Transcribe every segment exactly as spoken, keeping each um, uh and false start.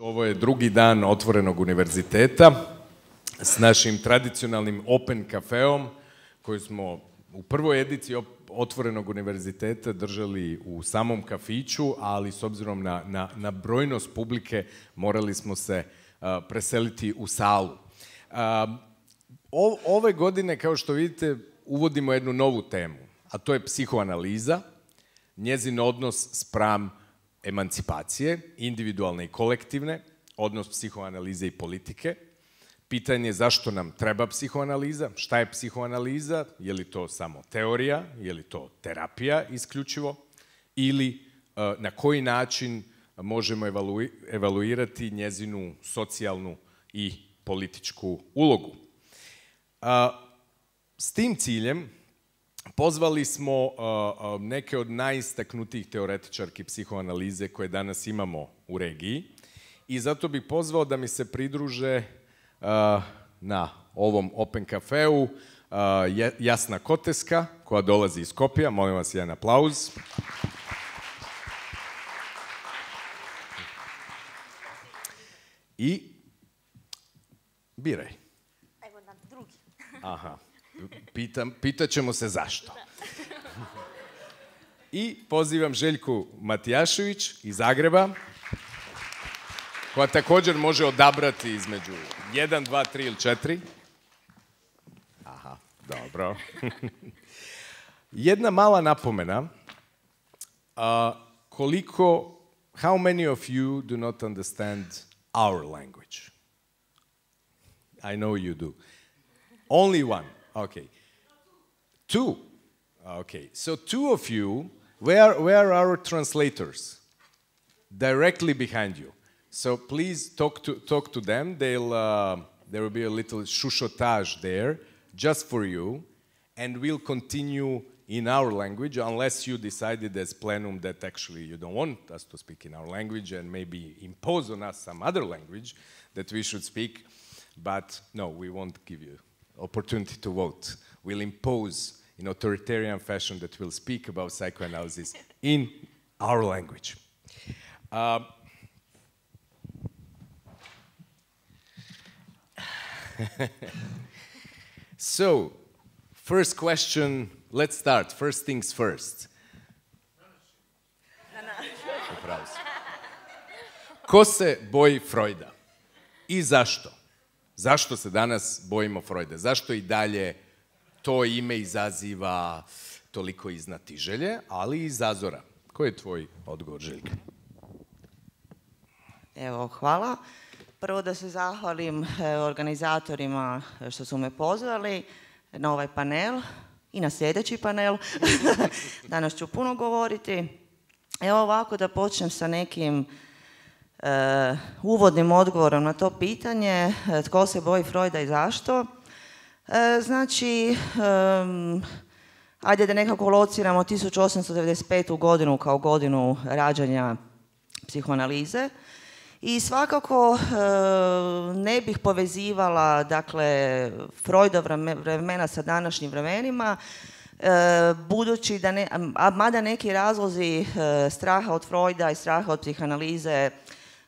Ovo je drugi dan Otvorenog univerziteta s našim tradicionalnim Open kafeom koji smo u prvoj ediciji Otvorenog univerziteta držali u samom kafiću, ali s obzirom na, na, na brojnost publike morali smo se uh, preseliti u salu. Uh, o, ove godine, kao što vidite, uvodimo jednu novu temu, a to je psihoanaliza, njezin odnos spram emancipacije, individualne i kolektivne, odnos psihoanalize i politike. Pitanje je zašto nam treba psihoanaliza, šta je psihoanaliza, je li to samo teorija, je li to terapija isključivo, ili na koji način možemo evaluirati njezinu socijalnu i političku ulogu. S tim ciljem pozvali smo neke od najistaknutijih teoretičarki psihoanalize koje danas imamo u regiji i zato bih pozvao da mi se pridruže na ovom Open kafeu Jasna Koteska, koja dolazi iz Skopja. Molim vas jedan aplauz. I biraj. Evo nam drugi. Aha. Pitam, pitaćemo se zašto. I pozivam Željku Matijašević iz Zagreba, koja također može odabrati između jedan, dva, tri ili četiri. Aha, dobro. Jedna mala napomena. Uh, koliko, how many of you do not understand our language? I know you do. Only one. Okay. Two. Okay. So two of you, where, where are our translators? Directly behind you. So please talk to, talk to them. They'll, uh, there will be a little chuchotage there, just for you. And we'll continue in our language, unless you decided as plenum that actually you don't want us to speak in our language and maybe impose on us some other language that we should speak. But no, we won't give you opportunity to vote. We'll impose in authoritarian fashion that we'll speak about psychoanalysis in our language. Uh, so, first question, let's start. First things first. Ko se boji Freuda? I zašto? Zašto se danas bojimo Freuda? Zašto i dalje to ime izaziva toliko iznatiželje, ali i zazora? Koji je tvoj odgovor, Željka? Evo, hvala. Prvo da se zahvalim organizatorima što su me pozvali na ovaj panel i na sljedeći panel. Danas ću puno govoriti. Evo ovako da počnem sa nekim Uh, uvodnim odgovorom na to pitanje, uh, tko se boji Freuda i zašto. Uh, znači, um, ajde da nekako lociramo tisuću osamsto devedeset petu godinu kao godinu rađanja psihoanalize i svakako uh, ne bih povezivala, dakle, Freudov vremena sa današnjim vremenima, uh, budući da, ne, a mada neki razlozi uh, straha od Freuda i straha od psihoanalize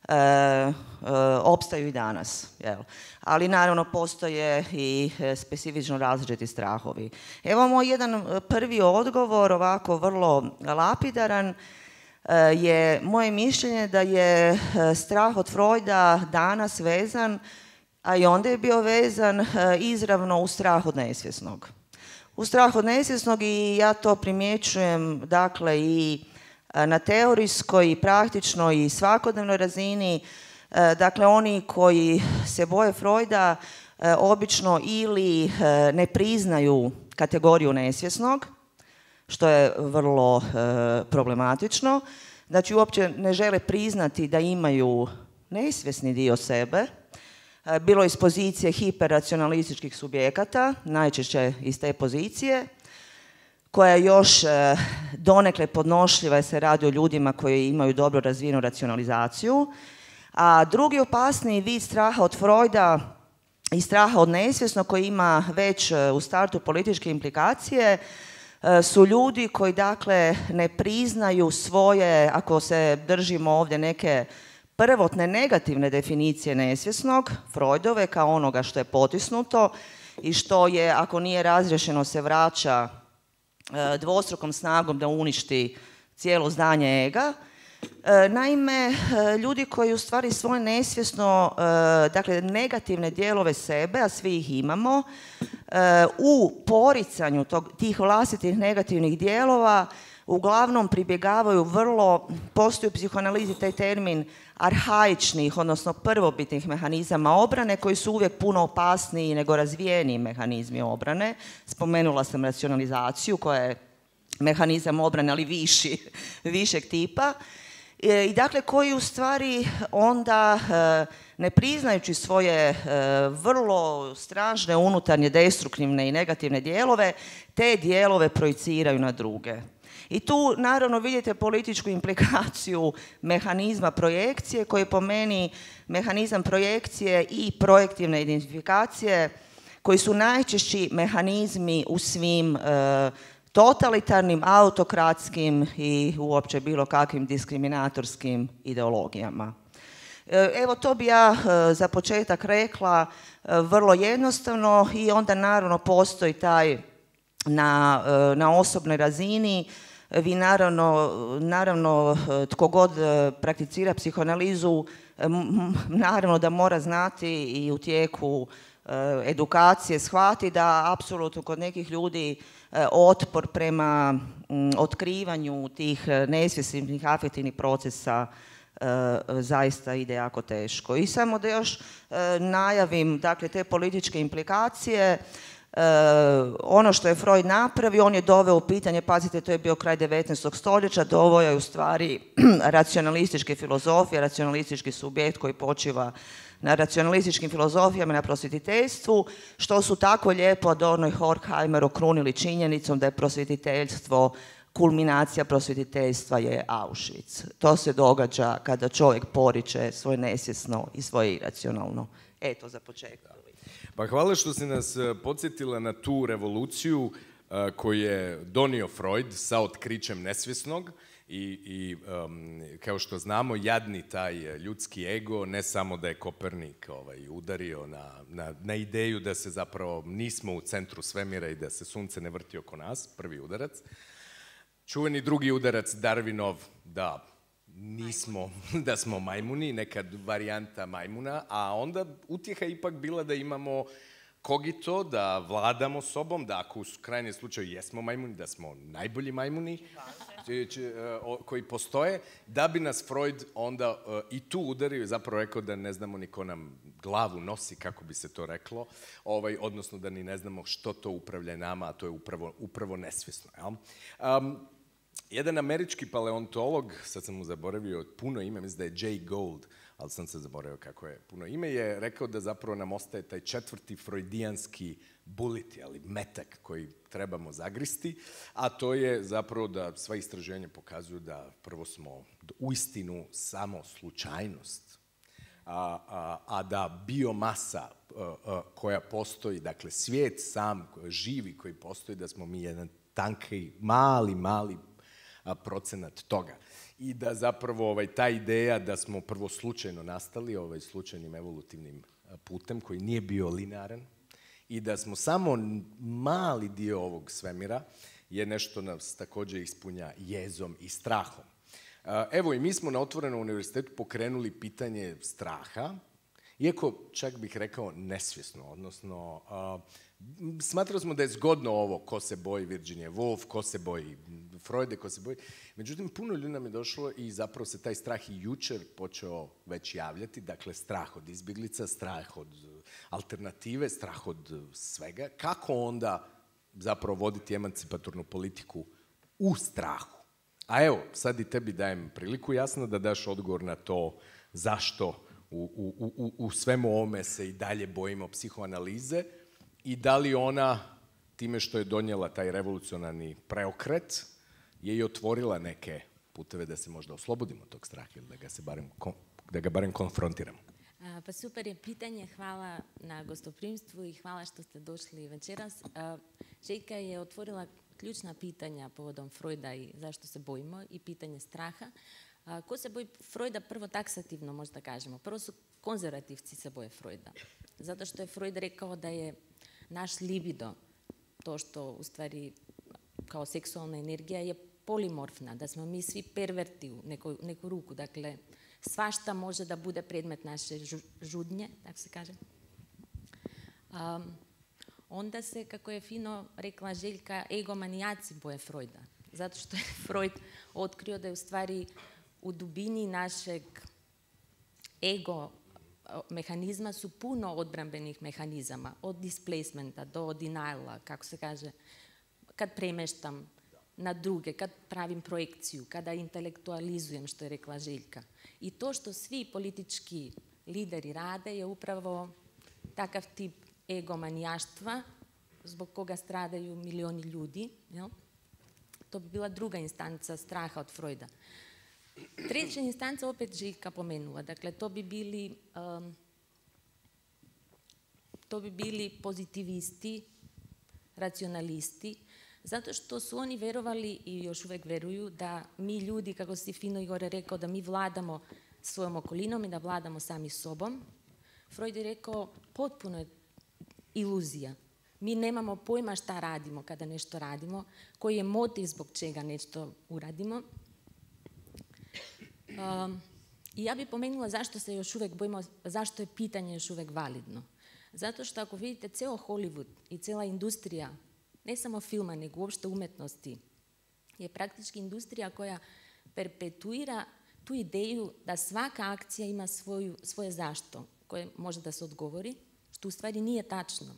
E, e, opstaju i danas. Jel? Ali naravno postoje i specifično različiti strahovi. Evo moj jedan prvi odgovor, ovako vrlo lapidaran, e, je moje mišljenje da je strah od Freuda danas vezan, a i onda je bio vezan e, izravno u strah od nesvjesnog. U strah od nesvjesnog i ja to primjećujem, dakle, i na teorijskoj i praktičnoj i svakodnevnoj razini. Dakle, oni koji se boje Freuda obično ili ne priznaju kategoriju nesvjesnog, što je vrlo problematično. Znači, uopće ne žele priznati da imaju nesvjesni dio sebe, bilo iz pozicije hiperracionalističkih subjekata, najčešće iz te pozicije, koja je još e, donekle podnošljiva jer se radi o ljudima koji imaju dobro razvijenu racionalizaciju. A drugi opasniji vid straha od Freuda i straha od nesvjesnog koji ima već e, u startu političke implikacije e, su ljudi koji dakle ne priznaju svoje, ako se držimo ovdje neke prvotne negativne definicije nesvjesnog, Freudove, kao onoga što je potisnuto i što je, ako nije razriješeno, se vraća e, dvostrukom snagom da uništi cijelo zdanje ega. E, naime, e, ljudi koji u stvari svoje nesvjesno, e, dakle negativne dijelove sebe, a svi ih imamo, e, u poricanju tog, tih vlastitih negativnih dijelova uglavnom pribjegavaju vrlo, postoji u psihoanalizi taj termin arhaičnih, odnosno prvobitnih mehanizama obrane koji su uvijek puno opasniji nego razvijeniji mehanizmi obrane. Spomenula sam racionalizaciju koja je mehanizam obrane, ali viši, višeg tipa. I dakle, koji u stvari onda, ne priznajući svoje vrlo strašne unutarnje destruktivne i negativne dijelove, te dijelove projiciraju na druge. I tu naravno vidite političku implikaciju mehanizma projekcije koji je po meni mehanizam projekcije i projektivne identifikacije koji su najčešći mehanizmi u svim e, totalitarnim, autokratskim i uopće bilo kakvim diskriminatorskim ideologijama. E, evo to bi ja e, za početak rekla e, vrlo jednostavno i onda naravno postoji taj na, e, na osobnoj razini. Vi naravno, naravno tko god prakticira psihoanalizu, naravno da mora znati i u tijeku edukacije shvati da apsolutno kod nekih ljudi otpor prema otkrivanju tih nesvjesnih afektivnih procesa zaista ide jako teško. I samo da još najavim, dakle, te političke implikacije. Uh, ono što je Freud napravio, on je doveo u pitanje, pazite, to je bio kraj devetnaestog stoljeća, doveo je u stvari racionalističke filozofije, racionalistički subjekt koji počiva na racionalističkim filozofijama, na prosvjetiteljstvu, što su tako lijepo Adorno i Horkheimer okrunili činjenicom da je prosvjetiteljstvo, kulminacija prosvjetiteljstva je Auschwitz. To se događa kada čovjek poriče svoje nesvjesno i svoje iracionalno. Eto, za početak. Pa hvala što si nas podsjetila na tu revoluciju uh, koju je donio Freud sa otkrićem nesvjesnog i, i um, kao što znamo, jadni taj ljudski ego, ne samo da je Kopernik ovaj, udario na, na, na ideju da se zapravo nismo u centru svemira i da se sunce ne vrti oko nas, prvi udarac. Čuveni drugi udarac, Darwinov, da nismo, da smo majmuni, nekad varijanta majmuna, a onda utjeha ipak bila da imamo kogito, da vladamo sobom, da ako u krajnjem slučaju jesmo majmuni, da smo najbolji majmuni koji postoje, da bi nas Freud onda i tu udario i zapravo rekao da ne znamo ni ko nam glavu nosi, kako bi se to reklo, ovaj, odnosno da ni ne znamo što to upravlja nama, a to je upravo, upravo nesvjesno. Jel? Um, Jedan američki paleontolog, sad sam mu zaboravio puno ime, mislim da je Jay Gould, ali sam se zaboravio kako je puno ime, je rekao da zapravo nam ostaje taj četvrti freudijanski bullet, ali metak koji trebamo zagristi, a to je zapravo da sva istraženja pokazuju da prvo smo uistinu samo slučajnost, a, a, a da biomasa a, a, koja postoji, dakle svijet sam živi koji postoji, da smo mi jedan tanki, mali, mali procenat toga. I da zapravo ovaj, ta ideja da smo prvo slučajno nastali, ovaj, slučajnim evolutivnim putem koji nije bio linearan i da smo samo mali dio ovog svemira je nešto nas također ispunja jezom i strahom. Evo i mi smo na Otvorenom univerzitetu pokrenuli pitanje straha, iako čak bih rekao nesvjesno, odnosno uh, smatrali smo da je zgodno ovo ko se boji Virginia Woolf, ko se boji Freude, ko se boji. Međutim, puno ljudi nam je došlo i zapravo se taj strah i jučer počeo već javljati, dakle strah od izbjeglica, strah od alternative, strah od svega. Kako onda zapravo voditi emancipatornu politiku u strahu? A evo, sad i tebi dajem priliku jasno da daš odgovor na to zašto U, u, u, u svemu ovome se i dalje bojimo psihoanalize i da li ona, time što je donijela taj revolucionarni preokret, je i otvorila neke puteve da se možda oslobodimo tog straha ili da ga, se barem, da ga barem konfrontiramo. A, pa super je pitanje, hvala na gostoprimstvu i hvala što ste došli večeras. A, Željka je otvorila ključna pitanja povodom Freuda i zašto se bojimo i pitanje straha. A, ko se boji Freuda, prvo taksativno možda kažemo. Prvo su konzervativci se boje Freuda. Zato što je Freud rekao da je naš libido, to što u stvari kao seksualna energija je polimorfna, da smo mi svi perverti u neku, neku ruku. Dakle, svašta može da bude predmet naše žudnje, tako se kaže. Um, onda se, kako je fino rekla Željka, egomanijaci boje Freuda. Zato što je Freud otkrio da je u stvari u dubini našeg ego mehanizma su puno odbrambenih mehanizama, od displacementa do deniala, kako se kaže, kad premeštam na druge, kad pravim projekciju, kada intelektualizujem, što je rekla Željka. I to što svi politički lideri rade je upravo takav tip egomanijaštva zbog koga stradaju milioni ljudi. Jel? To bi bila druga instanca straha od Freuda. Treća instanca opet Željka pomenula. Dakle, to bi bili um, to bi bili pozitivisti, racionalisti, zato što su oni verovali i još uvijek veruju da mi ljudi, kako si fino Igor rekao, da mi vladamo svojom okolinom i da vladamo sami sobom. Freud je rekao, potpuno je iluzija. Mi nemamo pojma šta radimo kada nešto radimo, koji je motiv zbog čega nešto uradimo. Um, I ja bih pomenula zašto se još uvijek bojimo, zašto je pitanje još uvijek validno. Zato što ako vidite ceo Hollywood i cijela industrija, ne samo filma, nego uopšte umetnosti, je praktički industrija koja perpetuira tu ideju da svaka akcija ima svoju, svoje zašto, koje može da se odgovori, što u stvari nije tačno.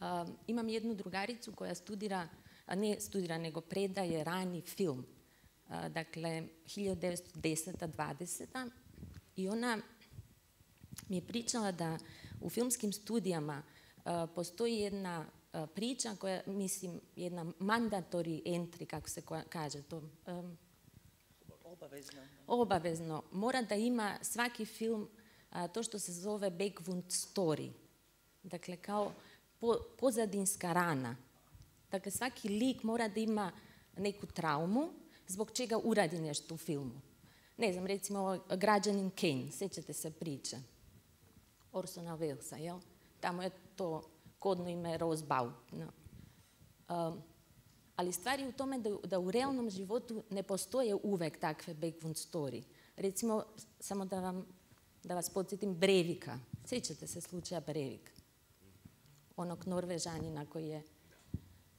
Uh, imam jednu drugaricu koja studira, a ne studira, nego predaje rani film. Uh, dakle, hiljadu devetsto deseta dvadeseta i ona mi je pričala da u filmskim studijama uh, postoji jedna uh, priča koja, mislim, jedna mandatory entry, kako se kaže to. Um, Obavezno. Obavezno. Mora da ima svaki film uh, to što se zove backwound story. Dakle, kao po, pozadinska rana. Dakle, svaki lik mora da ima neku traumu zbog čega uradi nešto u filmu. Ne znam, recimo Građanin Kane, sjećate se priče Orsona Wellesa, jel? Tamo je to kodno ime Rosbaud. No. Um, ali stvar je u tome da, da u realnom životu ne postoje uvek takve backwound story. Recimo, samo da, vam, da vas podsjetim, Breivika. Sjećate se slučaja Breivik? Onog Norvežanina koji je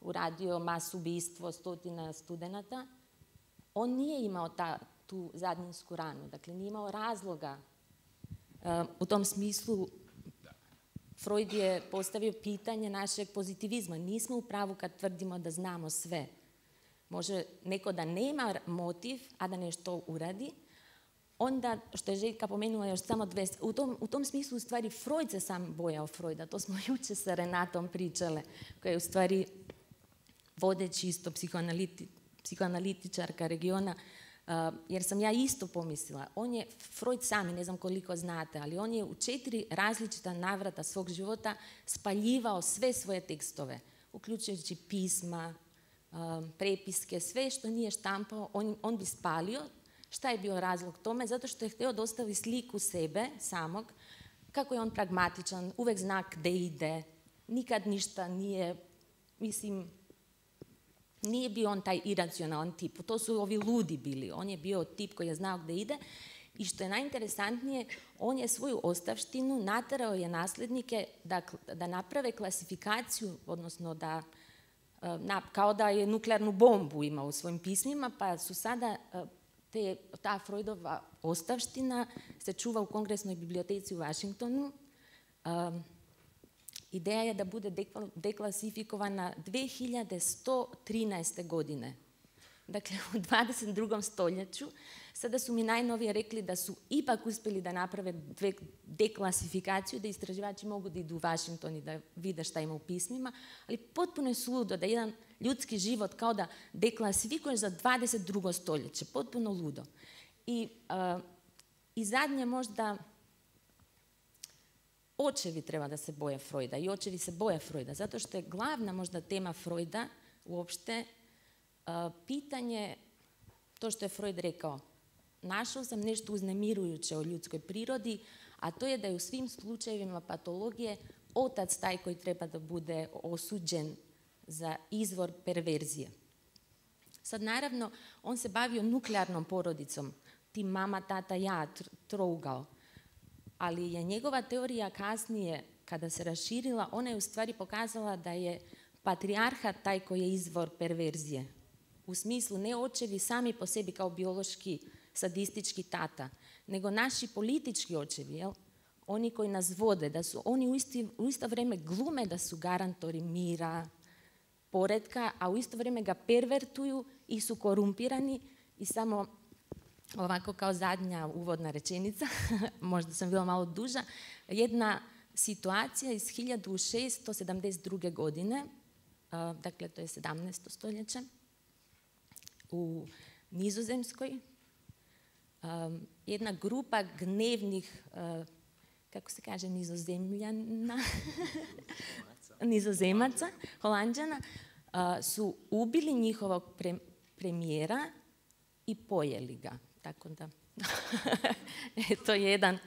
uradio masu ubistvo stotina studenata. On nije imao ta, tu zadnjinsku ranu, dakle nije imao razloga. Uh, u tom smislu Freud je postavio pitanje našeg pozitivizma. Nismo u pravu kad tvrdimo da znamo sve. Može neko da nema motiv, a da nešto uradi. Onda, što je Željka pomenula još samo dve, u tom, u tom smislu u stvari Freud se sam bojao Freuda. To smo jučer sa Renatom pričale, koja je u stvari vodeći isto psihoanaliti, psihoanalitičarka regiona, uh, jer sam ja isto pomislila. On je, Freud sami, ne znam koliko znate, ali on je u četiri različita navrata svog života spaljivao sve svoje tekstove, uključujući pisma, uh, prepiske, sve što nije štampao, on, on bi spalio. Šta je bio razlog tome? Zato što je htio dostaviti sliku sebe samog, kako je on pragmatičan, uvek zna gde ide, nikad ništa nije, mislim, nije bio on taj iracionalan tip. To su ovi ludi bili. On je bio tip koji je znao gde ide. I što je najinteresantnije, on je svoju ostavštinu naterao je nasljednike da, da naprave klasifikaciju, odnosno da, na, kao da je nuklearnu bombu imao u svojim pismima, pa su sada te, ta Freudova ostavština se čuva u Kongresnoj biblioteci u Washingtonu. Um, Ideja je da bude deklasifikovana dve hiljade sto trinaeste. godine. Dakle, u dvadeset drugom stoljeću. Sada su mi najnovije rekli da su ipak uspjeli da naprave deklasifikaciju, da istraživači mogu da idu u Washington i da vide šta ima u pismima, ali potpuno je suludo da jedan ljudski život kao da deklasifikuješ za dvadeset drugo stoljeće. Potpuno ludo. I, uh, i zadnje možda... Očevi treba da se boje Freuda i očevi se boje Freuda, zato što je glavna možda tema Freuda uopšte uh, pitanje to što je Freud rekao. Našao sam nešto uznemirujuće o ljudskoj prirodi, a to je da je u svim slučajevima patologije otac taj koji treba da bude osuđen za izvor perverzije. Sad naravno, on se bavio nuklearnom porodicom, ti mama, tata, ja, trougao. Ali je njegova teorija kasnije, kada se raširila, ona je u stvari pokazala da je patrijarhat taj koji je izvor perverzije. U smislu ne očevi sami po sebi kao biološki sadistički tata, nego naši politički očevi, jel? Oni koji nas vode, da su oni u, isti, u isto vrijeme glume da su garantori mira, poretka, a u isto vrijeme ga pervertuju i su korumpirani. I samo ovako kao zadnja uvodna rečenica, možda sam bila malo duža, jedna situacija iz hiljadu šesto sedamdeset druge. godine, dakle to je sedamnaesto stoljeće, u Nizozemskoj, jedna grupa gnevnih, kako se kaže, Nizozemljana, Nizozemaca, Holanđana, su ubili njihovog pre, premijera i pojeli ga. Tako da, to je jedan...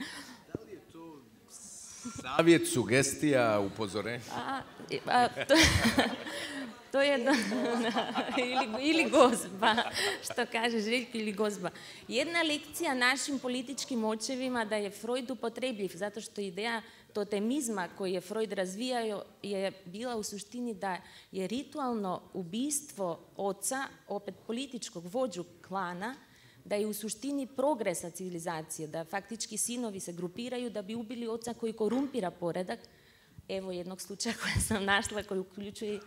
Da li je to savjet, sugestija, upozorenje? A, a, to, to je da, ili, ili gozba, što kaže Željko, ili gozba. Jedna lekcija našim političkim očevima da je Freud upotrebljiv, zato što ideja totemizma koji je Freud razvijao je bila u suštini da je ritualno ubistvo oca, opet političkog vođu klana, da je u suštini progresa civilizacije, da faktički sinovi se grupiraju da bi ubili oca koji korumpira poredak. Evo jednog slučaja koja sam našla koji uključuje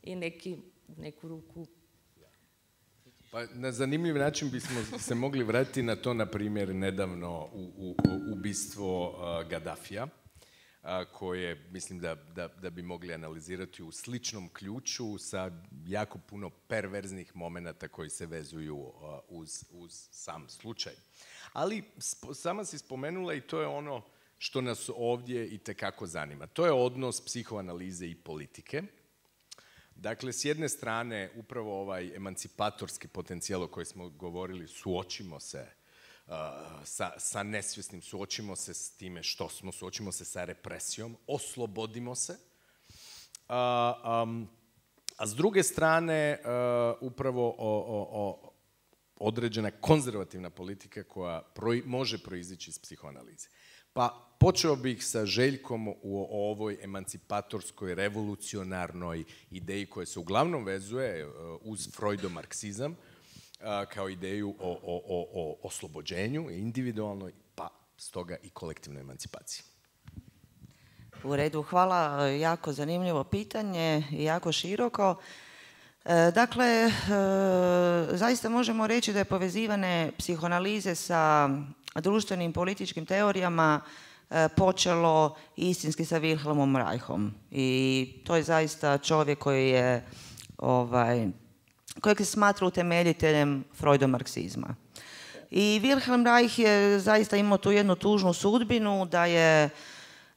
i neki, neku ruku. Pa na zanimljiv način bismo se mogli vratiti na to, na primjer, nedavno u, u, u ubistvo uh, Gaddafija, uh, koje mislim da, da, da bi mogli analizirati u sličnom ključu sa jako puno perverznih momenata koji se vezuju uh, uz, uz sam slučaj. Ali spo, sama si spomenula i to je ono što nas ovdje itekako zanima. To je odnos psihoanalize i politike. Dakle, s jedne strane, upravo ovaj emancipatorski potencijal o kojem smo govorili, suočimo se uh, sa, sa nesvjesnim, suočimo se s time što smo, suočimo se sa represijom, oslobodimo se. Uh, um, a s druge strane, uh, upravo o, o, o određena konzervativna politika koja proj, može proizići iz psihoanalize. Pa počeo bih sa Željkom u ovoj emancipatorskoj, revolucionarnoj ideji koja se uglavnom vezuje uz Freudomarksizam kao ideju o, o, o, o oslobođenju, individualnoj, pa stoga i kolektivnoj emancipaciji. U redu, hvala. Jako zanimljivo pitanje i jako široko. Dakle, zaista možemo reći da je povezivane psihoanalize sa društvenim političkim teorijama počelo istinski sa Wilhelmom Reichom. I to je zaista čovjek koji je, ovaj, kojeg se smatra utemeljiteljem Freudomarksizma. I Wilhelm Reich je zaista imao tu jednu tužnu sudbinu da je,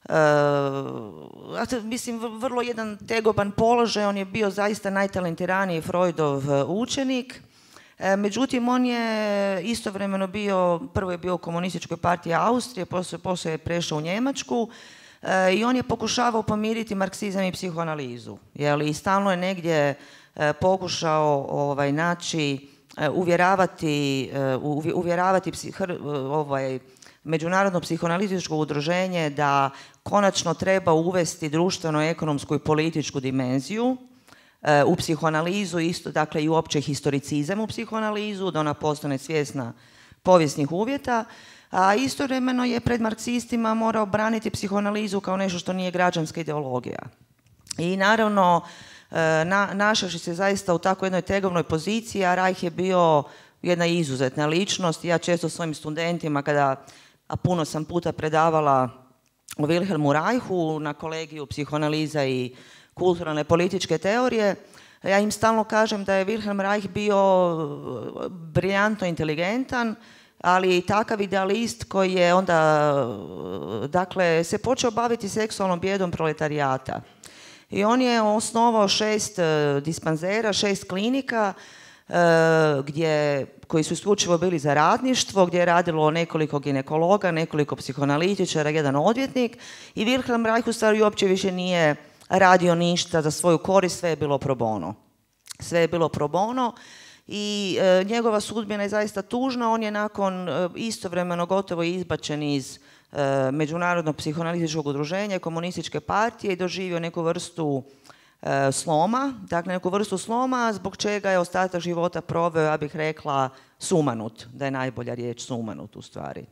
uh, mislim, vrlo jedan tegoban položaj. On je bio zaista najtalentiraniji Freudov učenik. Međutim, on je istovremeno bio, prvo je bio u komunističkoj partiji Austrije, poslije, poslije je prešao u Njemačku e, i on je pokušavao pomiriti marksizam i psihoanalizu. Jeli, i stalno je negdje e, pokušao ovaj, naći, e, uvjeravati, e, uvjeravati psih, ovaj, Međunarodno psihoanalitičko udruženje da konačno treba uvesti društveno-ekonomsku i političku dimenziju u psihoanalizu, isto dakle i uopće historicizam u psihoanalizu, da ona postane svjesna povijesnih uvjeta, a istovremeno je pred marksistima morao braniti psihoanalizu kao nešto što nije građanska ideologija. I naravno, na, našavši se zaista u tako jednoj tegovnoj poziciji, a Reich je bio jedna izuzetna ličnost. Ja često svojim studentima, kada, a puno sam puta predavala o Wilhelmu Reichu na kolegiju psihoanaliza i kulturalne političke teorije, ja im stalno kažem da je Wilhelm Reich bio briljantno inteligentan, ali i takav idealist koji je onda, dakle, se počeo baviti seksualnom bijedom proletarijata. I on je osnovao šest dispanzera, šest klinika gdje, koji su isključivo bili za radništvo, gdje je radilo nekoliko ginekologa, nekoliko psihoanalitičara, jedan odvjetnik i Wilhelm Reich u stvari uopće više nije radio ništa za svoju korist, sve je bilo pro bono. Sve je bilo pro bono i e, njegova sudbina je zaista tužna. On je nakon e, istovremeno gotovo izbačen iz e, Međunarodnog psihoanalitičkog udruženja, komunističke partije i doživio neku vrstu e, sloma, dakle neku vrstu sloma zbog čega je ostatak života proveo, ja bih rekla, sumanut, da je najbolja riječ sumanut u stvari.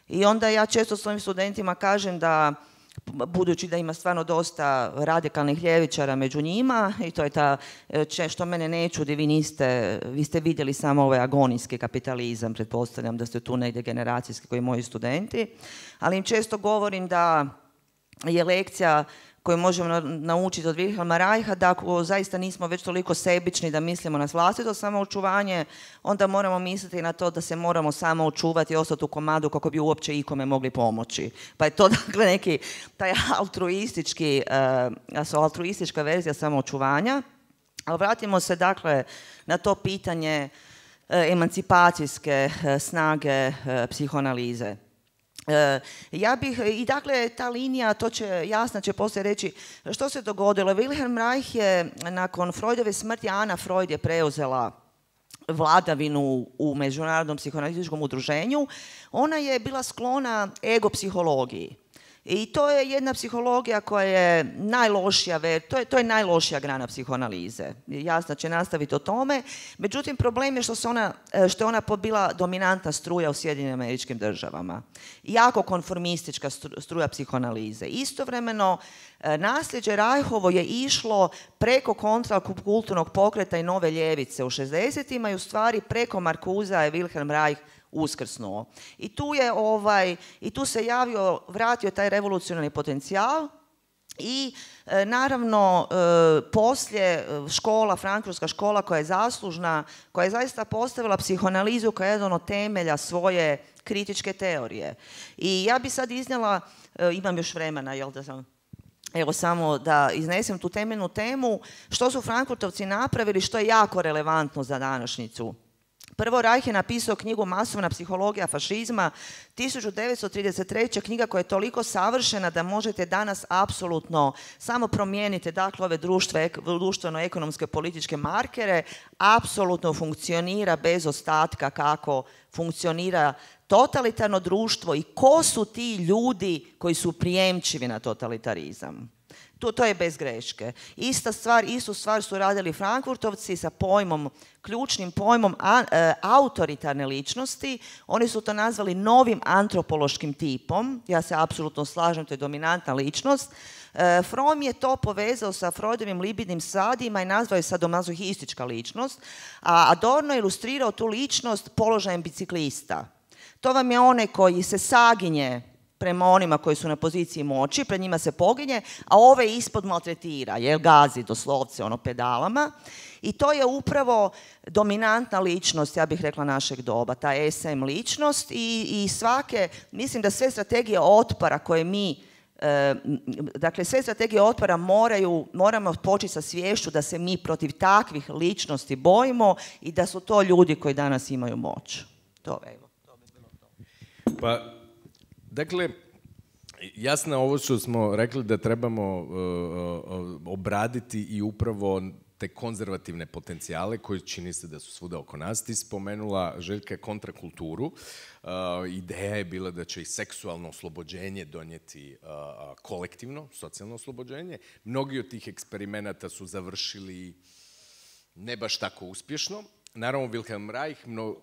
I onda ja često svojim studentima kažem da, budući da ima stvarno dosta radikalnih ljevičara među njima, i to je ta, što mene ne čudi, vi niste, vi ste vidjeli samo ovaj agonijski kapitalizam, pretpostavljam da ste tu negdje generacijski koji moji studenti, ali im često govorim da je lekcija koju možemo naučiti od Wilhelma Reicha, da ako zaista nismo već toliko sebični da mislimo na vlastito samoočuvanje, onda moramo misliti na to da se moramo samo očuvati i ostati u komadu kako bi uopće ikome mogli pomoći. Pa je to dakle neki taj altruistički, uh, altruistička verzija samoočuvanja. Ali vratimo se dakle na to pitanje uh, emancipacijske uh, snage uh, psihoanalize. E, ja bih, i dakle ta linija, to će, jasno će poslije reći što se dogodilo. Wilhelm Reich je nakon Freudove smrti, Ana Freud je preuzela vladavinu u Međunarodnom psihoanalitičkom udruženju. Ona je bila sklona ego psihologiji. I to je jedna psihologija koja je najlošija, to je, to je najlošija grana psihoanalize. Jasno će nastaviti o tome. Međutim, problem je što, se ona, što je ona bila dominantna struja u Sjedinjenim Američkim Državama. Jako konformistička struja psihoanalize. Istovremeno, nasljeđe Reichovo je išlo preko kontrakulturnog pokreta i nove ljevice u šezdesetima i u stvari preko Markusa je Wilhelm Reich uskrsnuo. I tu je ovaj, i tu se javio, vratio taj revolucionarni potencijal i e, naravno e, poslije škola, frankfurtska škola koja je zaslužna, koja je zaista postavila psihoanalizu kao jedan od temelja svoje kritičke teorije. I ja bi sad iznijela, e, imam još vremena, jel da sam... Evo samo da iznesem tu temeljnu temu, što su Frankfurtovci napravili, što je jako relevantno za današnjicu. Prvo, Reich je napisao knjigu Masovna psihologija fašizma, tisuću devetsto trideset treće. knjiga koja je toliko savršena da možete danas apsolutno samo promijeniti dakle ove društveno-ekonomske političke markere, apsolutno funkcionira bez ostatka kako funkcionira totalitarno društvo i ko su ti ljudi koji su prijemčivi na totalitarizam. To, to je bez greške. Ista stvar, istu stvar su radili Frankfurtovci sa pojmom, ključnim pojmom a, e, autoritarne ličnosti. Oni su to nazvali novim antropološkim tipom. Ja se apsolutno slažem, to je dominantna ličnost. E, Fromm je to povezao sa Freudovim libidnim sadima i nazvao je sadomazohistička ličnost, a Adorno je ilustrirao tu ličnost položajem biciklista. To vam je onaj koji se saginje prema onima koji su na poziciji moći, pred njima se poginje, a ove ispod maltretira, jer gazi doslovce ono pedalama. I to je upravo dominantna ličnost, ja bih rekla, našeg doba, ta es em ličnost i, i svake, mislim da sve strategije otpora koje mi, e, dakle sve strategije otpora moraju, moramo početi sa sviješću da se mi protiv takvih ličnosti bojimo i da su to ljudi koji danas imaju moć. To, evo, to bi bilo to. Pa, dakle, jasno ovo što smo rekli da trebamo uh, uh, obraditi i upravo te konzervativne potencijale koji čini se da su svuda oko nas. Ti spomenula, Željka, kontrakulturu. Uh, ideja je bila da će i seksualno oslobođenje donijeti uh, kolektivno, socijalno oslobođenje. Mnogi od tih eksperimenata su završili ne baš tako uspješno. Naravno, Wilhelm Reich... Mno...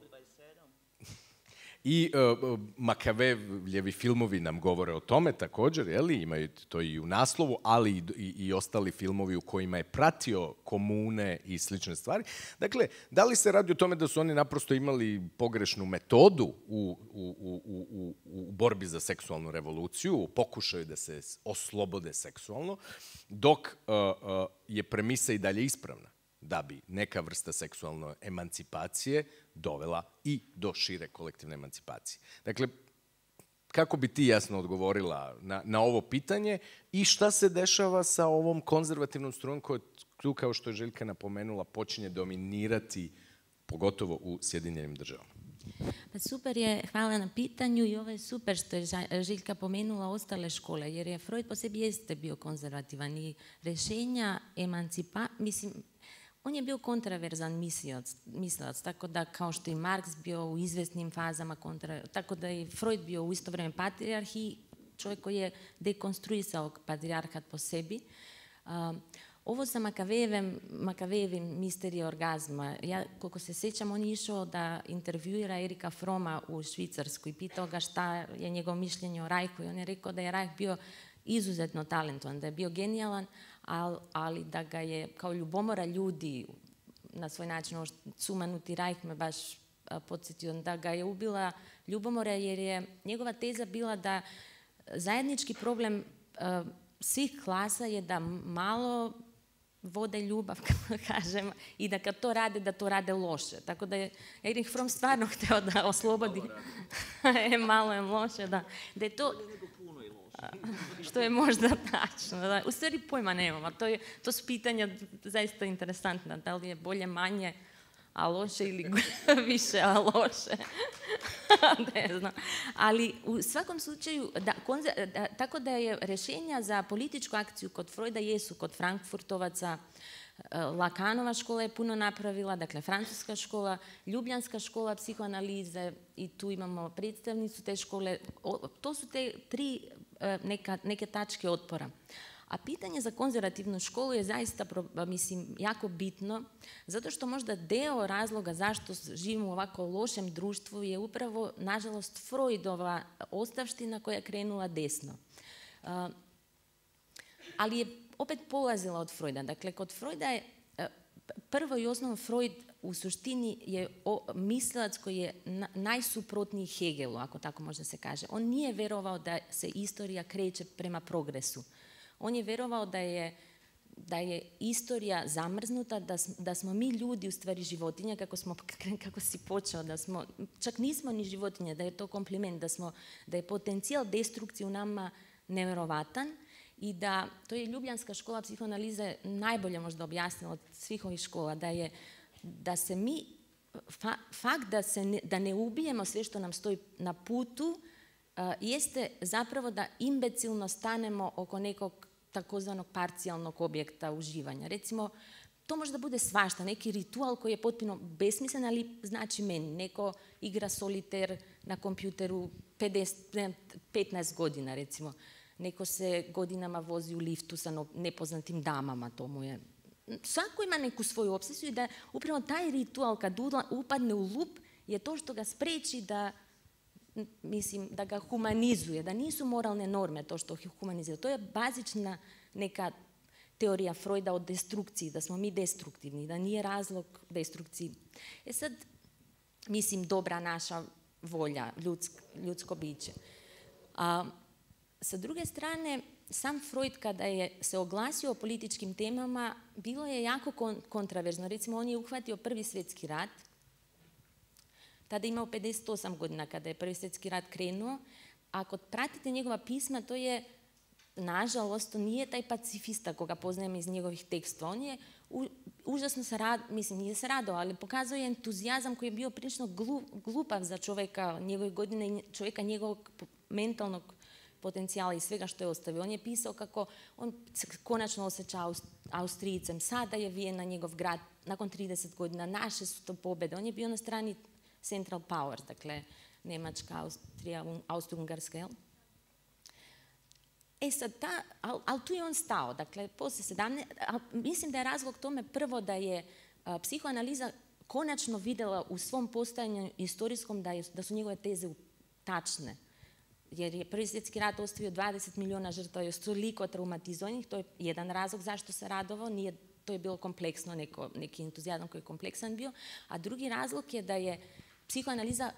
I uh, Makavejevljevi filmovi nam govore o tome također, jeli? Imaju to i u naslovu, ali i, i, i ostali filmovi u kojima je pratio komune i slične stvari. Dakle, da li se radi o tome da su oni naprosto imali pogrešnu metodu u, u, u, u, u borbi za seksualnu revoluciju, u pokušaju da se oslobode seksualno, dok uh, uh, je premisa i dalje ispravna, da bi neka vrsta seksualne emancipacije dovela i do šire kolektivne emancipacije. Dakle, kako bi ti jasno odgovorila na, na ovo pitanje i šta se dešava sa ovom konzervativnom strujom koja tu, kao što je Željka napomenula, počinje dominirati pogotovo u Sjedinjenim državama? Pa super je, hvala na pitanju i ovo je super što je Željka pomenula ostale škole, jer je Freud po sebi jeste bio konzervativan i rješenja emancipa, mislim, on je bio kontraverzan mislilac, mislilac, tako da kao što i Marx bio u izvesnim fazama, kontra, tako da je Freud bio u isto vrijeme patrijarh i čovjek koji je dekonstruisao patrijarhat po sebi. Uh, ovo sa Makavejevim, Makavejevim misterije orgazma, ja koliko se sjećam, on je išao da intervjuira Erika Froma u Švicarsku i pitao ga šta je njegov mišljenje o Reichu i on je rekao da je Reich bio izuzetno talentovan, da je bio genijalan, ali, ali da ga je kao ljubomora ljudi na svoj način, ovo sumanuti Reich me baš a, podsjetio, da ga je ubila ljubomora jer je njegova teza bila da zajednički problem a, svih klasa je da malo vode ljubav, kako kažem, i da kad to rade, da to rade loše. Tako da je Erich Fromm stvarno htio da oslobodi. e, malo je loše, da. Da je to... Što je možda tačno. Da. U stvari pojma nemam, a to, je, to su pitanja zaista interesantna. Da li je bolje manje, a loše ili više, a loše. Ne znam. Ali u svakom slučaju, da, konzer, da, tako da je rješenja za političku akciju kod Freuda jesu kod Frankfurtovaca, Lacanova škola je puno napravila, dakle francuska škola, Ljubljanska škola psihoanalize i tu imamo predstavnicu te škole. O, to su te tri neka, neke tačke otpora. A pitanje za konzervativnu školu je zaista, mislim, jako bitno, zato što možda deo razloga zašto živimo u ovako lošem društvu je upravo, nažalost, Freudova ostavština koja je krenula desno. Uh, ali je opet polazila od Freuda. Dakle, kod Freuda je uh, prvo i osnovno Freud u suštini je o, mislilac koji je na, najsuprotniji Hegelu, ako tako možda se kaže. On nije vjerovao da se istorija kreće prema progresu. On je vjerovao da je, da je istorija zamrznuta, da, da smo mi ljudi u stvari životinja, kako, smo, kako si počeo, da smo, čak nismo ni životinje, da je to kompliment, da, smo, da je potencijal destrukcije u nama nevjerovatan i da, to je Ljubljanska škola psihoanalize najbolje možda objasnila od svih ovih škola, da je, da se mi, fa, fakt da, se ne, da ne ubijemo sve što nam stoji na putu, uh, jeste zapravo da imbecilno stanemo oko nekog takozvanog parcijalnog objekta uživanja. Recimo, to možda bude svašta, neki ritual koji je potpuno besmislen, ali znači meni. Neko igra soliter na kompjuteru pedeset, petnaest godina, recimo. Neko se godinama vozi u liftu sa nepoznatim damama, to mu je... Svako ima neku svoju obsesiju i da upravo taj ritual kad upadne u lup je to što ga spreči da, mislim, da ga humanizuje, da nisu moralne norme to što humanizuje. To je bazična neka teorija Freuda o destrukciji, da smo mi destruktivni, da nije razlog destrukciji. E sad, mislim, dobra naša volja, ljudsk, ljudsko biće. A, sa druge strane, sam Freud kada je se oglasio o političkim temama, bilo je jako kon, kontraverzno. Recimo, on je uhvatio Prvi svjetski rat, tada je imao pedeset osam godina kada je Prvi svjetski rat krenuo. Ako pratite njegova pisma, to je, nažalost, to nije taj pacifista koga poznajem iz njegovih tekstova. On je u, užasno se rad, mislim, nije se radao, ali pokazuje entuzijazam koji je bio prilično glup, glupav za čovjeka njegove godine, čovjeka njegovog mentalnog potencijala i svega što je ostavio. On je pisao kako on se konačno osjeća Austrijcem, sada je Vijena njegov grad, nakon trideset godina, naše su to pobjede. On je bio na strani Central Powers, dakle Njemačka, Austrija, Austro-Ugarska, jel? E sad, ta, ali al tu je on stao, dakle, poslije sedamnaest, mislim da je razlog tome prvo da je a, psihoanaliza konačno vidjela u svom postojanju istorijskom da, je, da su njegove teze tačne. Jer je Prvi svjetski rat ostavio dvadeset milijuna žrtava i toliko traumatizovanih, to je jedan razlog zašto se radovao, nije, to je bilo kompleksno, neko, neki entuzijazam koji je kompleksan bio, a drugi razlog je da je psihoanaliza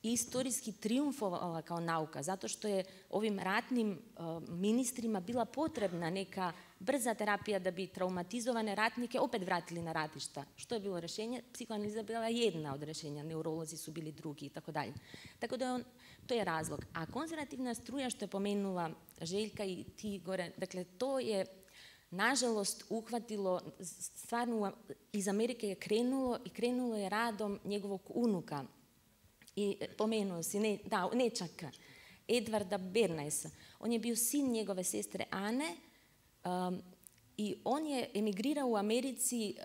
istorijski triumfovala kao nauka, zato što je ovim ratnim uh, ministrima bila potrebna neka brza terapija da bi traumatizovane ratnike opet vratili na ratišta. Što je bilo rješenje? Psihoanaliza bila jedna od rješenja, neurolozi su bili drugi i tako dalje. Tako da je on, to je razlog. A konzervativna struja, što je pomenula Željka i ti gore, dakle to je nažalost uhvatilo, stvarno iz Amerike je krenulo i krenulo je radom njegovog unuka. I pomenuo si, ne, da, nečaka, Edvarda Bernaisa. On je bio sin njegove sestre Ane um, i on je emigrirao u Americi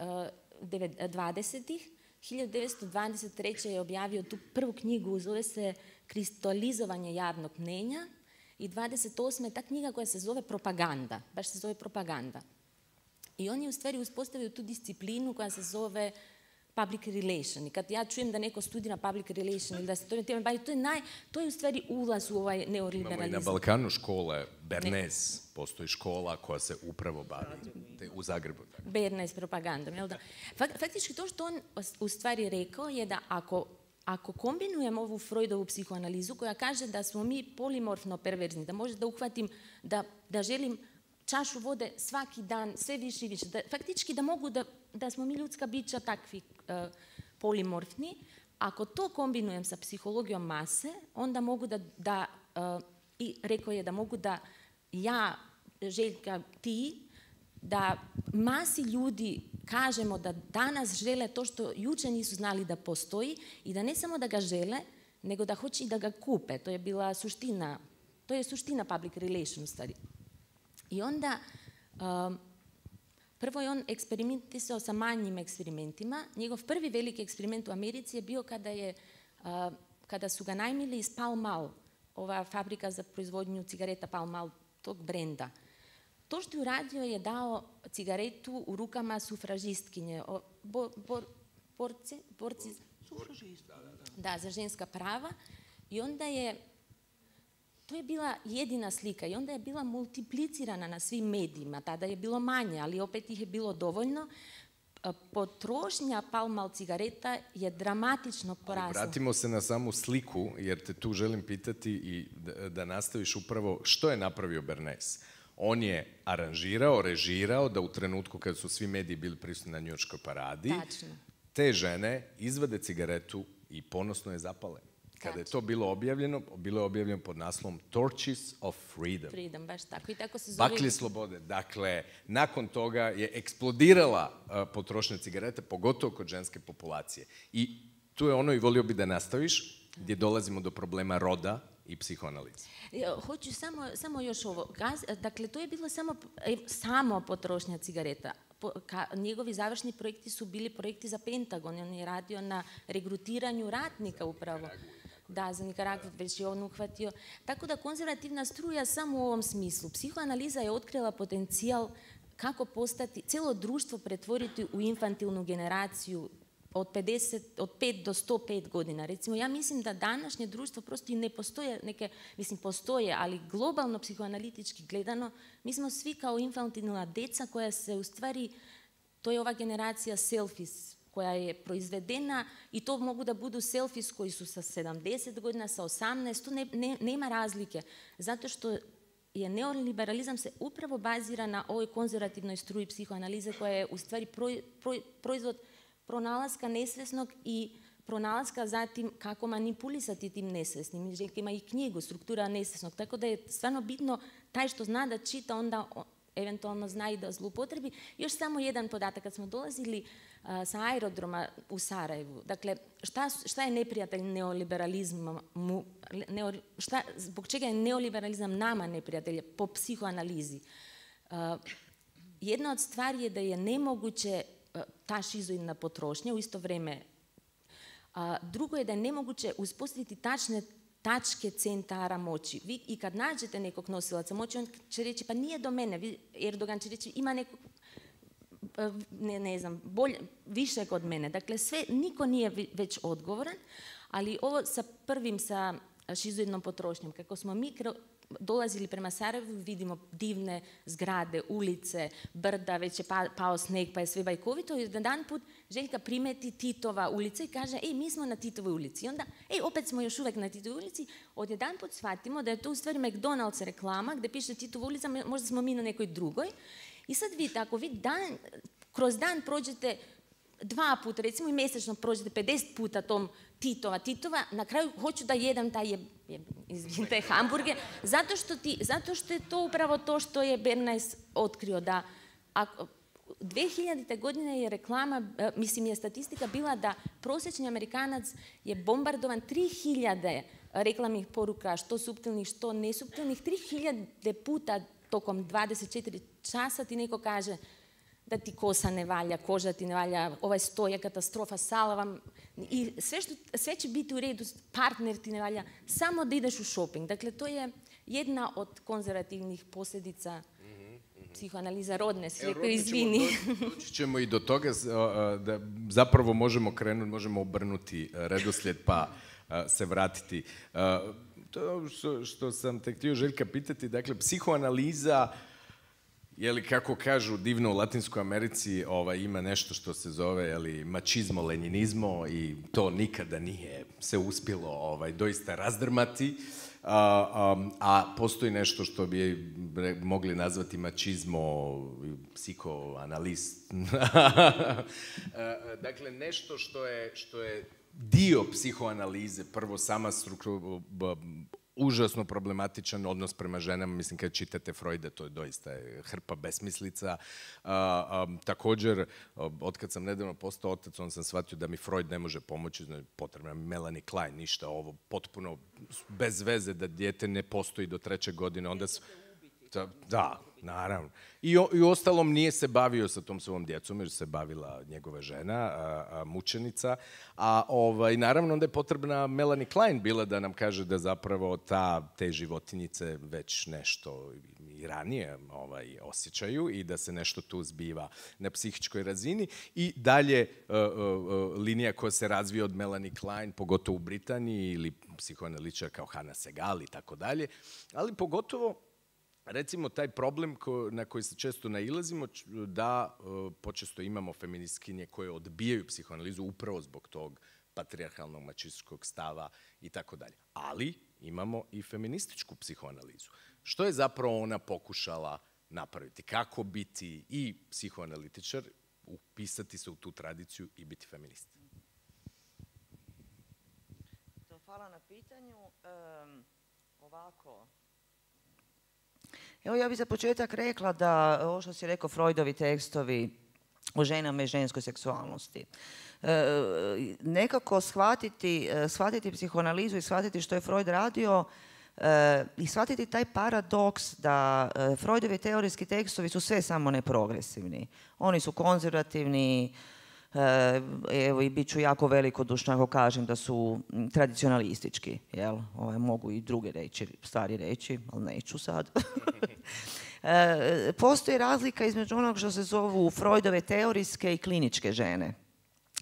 uh, dvadesetih. hiljadu devetsto dvadeset treće. je objavio tu prvu knjigu, zove se Kristalizovanje javnog mnenja. I dvadeset osme. ta knjiga koja se zove Propaganda, baš se zove Propaganda. I on je u stvari uspostavio tu disciplinu koja se zove public relation. I kad ja čujem da neko studira public relation ili da se to time bavi, to je, naj, to je u stvari ulaz u ovaj neoliberalizam. Imamo i na Balkanu škole, Bernays, postoji škola koja se upravo bavi u Zagrebu. Bernays propagandom, jel da? Faktički to što on u stvari rekao je da ako Ako kombinujemo ovu Freudovu psihoanalizu koja kaže da smo mi polimorfno perverzni, da možda uhvatim da, da želim čašu vode svaki dan, sve više i više, da, faktički da mogu da, da smo mi ljudska bića takvi uh, polimorfni, ako to kombinujem sa psihologijom mase, onda mogu da, da uh, i rekao je da mogu da ja, Željka, ti, da masi ljudi kažemo da danas žele to što jučer nisu znali da postoji i da ne samo da ga žele, nego da hoće i da ga kupe. To je bila suština, to je suština public relation u stvari. I onda, um, prvo je on eksperimentisao sa manjim eksperimentima. Njegov prvi veliki eksperiment u Americi je bio kada, je, uh, kada su ga najmili iz Pall Mall, ova fabrika za proizvodnju cigareta Pall Mall, tog brenda. To što je uradio je dao cigaretu u rukama sufražistkinje, bor, bor, borci, borci da, za ženska prava i onda je, to je bila jedina slika i onda je bila multiplicirana na svim medijima, tada je bilo manje, ali opet ih je bilo dovoljno. Potrošnja Pall Mall cigareta je dramatično porasla. Vratimo se na samu sliku, jer te tu želim pitati i da, da nastaviš upravo što je napravio Bernays. On je aranžirao, režirao da u trenutku kada su svi mediji bili prisutni na njujorškoj paradi, Tačno. te žene izvade cigaretu i ponosno je zapale. Kada je to bilo objavljeno, bilo je objavljeno pod naslovom Torches of Freedom. Freedom, baš tako. I tako se zove... Baklje slobode. Dakle, nakon toga je eksplodirala uh, potrošnja cigareta, pogotovo kod ženske populacije. I tu je ono i volio bi da nastaviš, gdje dolazimo do problema roda i psihoanalize. Hoću samo, samo još ovo. Gaz, dakle, to je bilo samo, samo potrošnja cigareta. Po, ka, njegovi završni projekti su bili projekti za Pentagon. On je radio na regrutiranju ratnika upravo. Da, za Nikaragvu već je on uhvatio. Tako da konzervativna struja samo u ovom smislu. Psihoanaliza je otkrila potencijal kako postati, cijelo društvo pretvoriti u infantilnu generaciju od, pedeset, od pet do sto pet godina. Recimo, ja mislim da današnje društvo prosto i ne postoje neke, mislim postoje, ali globalno psihoanalitički gledano, mi smo svi kao infantilna deca koja se u stvari, to je ova generacija selfies koja je proizvedena i to mogu da budu selfies koji su sa sedamdeset godina, sa osamnaest, to ne, ne, nema razlike. Zato što je neoliberalizam se upravo bazira na ovoj konzervativnoj struji psihoanalize koja je u stvari proj, proj, proizvod pronalaska nesvesnog i pronalaska zatim kako manipulisati tim nesvesnim. Željka ima i knjigu, Struktura nesvesnog, tako da je stvarno bitno taj što zna da čita, onda eventualno zna i da zloupotrebi. Još samo jedan podatak, kad smo dolazili uh, sa aerodroma u Sarajevu, dakle, šta, šta je neprijatelj neoliberalizma, mu, neo, šta, zbog čega je neoliberalizam nama neprijatelj po psihoanalizi? Uh, jedna od stvari je da je nemoguće ta šizoidna potrošnja u isto vrijeme. A, drugo je da je nemoguće uspostaviti tačne tačke centara moći. Vi i kad nađete nekog nosilaca moći, on će reći pa nije do mene. Vi, Erdogan će reći ima nekog, ne, ne znam, bolje, više kod mene. Dakle, sve, niko nije već odgovoran, ali ovo sa prvim, sa šizoidnom potrošnjom, kako smo mi dolazili prema Sarajevu, vidimo divne zgrade, ulice, brda, već je pa, pao sneg, pa je sve bajkovito. I jedan put Željka primeti Titova ulica i kaže, ej, mi smo na Titovoj ulici. I onda, ej, opet smo još uvijek na Titovoj ulici. Od jedan put shvatimo da je to u stvari McDonald's reklama gdje piše Titova ulica, možda smo mi na nekoj drugoj. I sad vidite, ako vi dan, kroz dan prođete dva puta, recimo i mjesečno prođete pedeset puta tom Titova, Titova, na kraju hoću da jedem taj je, je, izvinite, hamburger, zato što, ti, zato što je to upravo to što je Bernays otkrio, da A dvije hiljadite godine je reklama, mislim je statistika bila da prosječni Amerikanac je bombardovan tri hiljade reklamnih poruka, što suptilnih, što nesuptilnih, tri hiljade puta tokom dvadeset četiri časa ti neko kaže da ti kosa ne valja, koža ti ne valja, ovaj sto je katastrofa, sala vam, i sve, što, sve će biti u redu, partner ti ne valja, samo da ideš u shopping. Dakle, to je jedna od konzervativnih posljedica psihoanaliza rodne, si rekao, izvini. Doći ćemo i do toga da zapravo možemo krenuti, možemo obrnuti redoslijed pa se vratiti. To što, što sam te htio Željka pitati, dakle, psihoanaliza, je li kako kažu divno u Latinskoj Americi, ovaj, ima nešto što se zove, je li, mačizmo, lenjinizmo, i to nikada nije se uspjelo ovaj, doista razdrmati. A, a, a postoji nešto što bi mogli nazvati mačizmo, psihoanalist. Dakle, nešto što je, što je dio psihoanalize, prvo sama struktura, užasno problematičan odnos prema ženama. Mislim, kad čitate Freuda, to je doista hrpa besmislica. A, a, također, otkad sam nedavno postao otac, on sam shvatio da mi Freud ne može pomoći, potrebna mi Melanie Klein, ništa, ovo potpuno bez veze, da dijete ne postoji do treće godine, onda su... Da, da, naravno. I, o, I ostalom nije se bavio sa tom svojom djecom, jer se bavila njegova žena, a, a, mučenica. A ovaj, naravno onda je potrebna Melanie Klein bila da nam kaže da zapravo ta, te životinjice već nešto i ranije ovaj, osjećaju i da se nešto tu zbiva na psihičkoj razini. I dalje uh, uh, linija koja se razvija od Melanie Klein, pogotovo u Britaniji, ili psihoanalitičar kao Hannah Segal i tako dalje, ali pogotovo recimo taj problem ko, na koji se često nailazimo, da uh, počesto imamo feministkinje koje odbijaju psihoanalizu upravo zbog tog patrijarhalnog mačističkog stava i tako dalje. Ali imamo i feminističku psihoanalizu. Što je zapravo ona pokušala napraviti? Kako biti i psihoanalitičar, upisati se u tu tradiciju i biti feminist? Hvala na pitanju. Um, ovako... Evo, ja bih za početak rekla da, ovo što si rekao, Freudovi tekstovi o ženama i ženskoj seksualnosti. E, nekako shvatiti, shvatiti psihoanalizu i shvatiti što je Freud radio e, i shvatiti taj paradoks da e, Freudovi teorijski tekstovi su sve samo ne progresivni. Oni su konzervativni, evo i bit ću jako velikodušna ako kažem da su tradicionalistički, jel? Ovaj, mogu i druge reći, stvari reći, ali neću sad. e, postoji razlika između onog što se zovu Freudove teorijske i kliničke žene.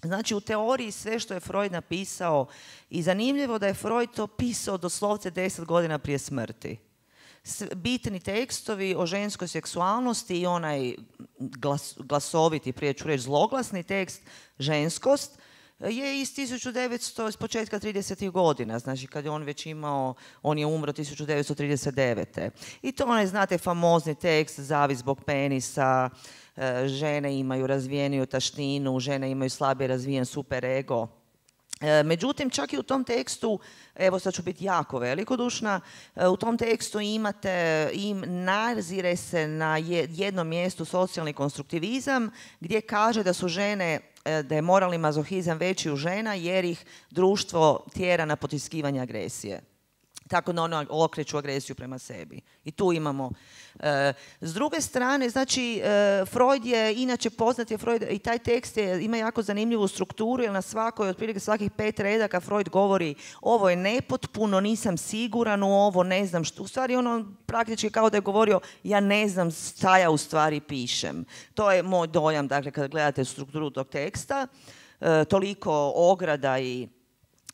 Znači, u teoriji sve što je Freud napisao, i zanimljivo da je Freud to pisao doslovce deset godina prije smrti. Bitni tekstovi o ženskoj seksualnosti i onaj glas, glasoviti, prije ću reći zloglasni tekst, ženskost, je iz tisuću devetsto, iz početka tridesetih godina, znači kad je on već imao, on je umro tisuću devetsto trideset devete. I to onaj, znate, famozni tekst, zavis zbog penisa, žene imaju razvijeniju taštinu, žene imaju slabije razvijen superego. Međutim, čak i u tom tekstu, evo sad ću biti jako velikodušna, u tom tekstu imate, im nazire se na jednom mjestu socijalni konstruktivizam gdje kaže da su žene, da je moralni mazohizam veći u žena jer ih društvo tjera na potiskivanje agresije. Tako da ono okreću agresiju prema sebi. I tu imamo. E, s druge strane, znači, e, Freud je, inače poznat je Freud, i taj tekst je, ima jako zanimljivu strukturu, jer na svakoj, otprilike svakih pet redaka Freud govori ovo je nepotpuno, nisam siguran u ovo, ne znam što. U stvari ono praktički kao da je govorio ja ne znam šta ja u stvari pišem. To je moj dojam, dakle, kada gledate strukturu tog teksta. E, toliko ograda i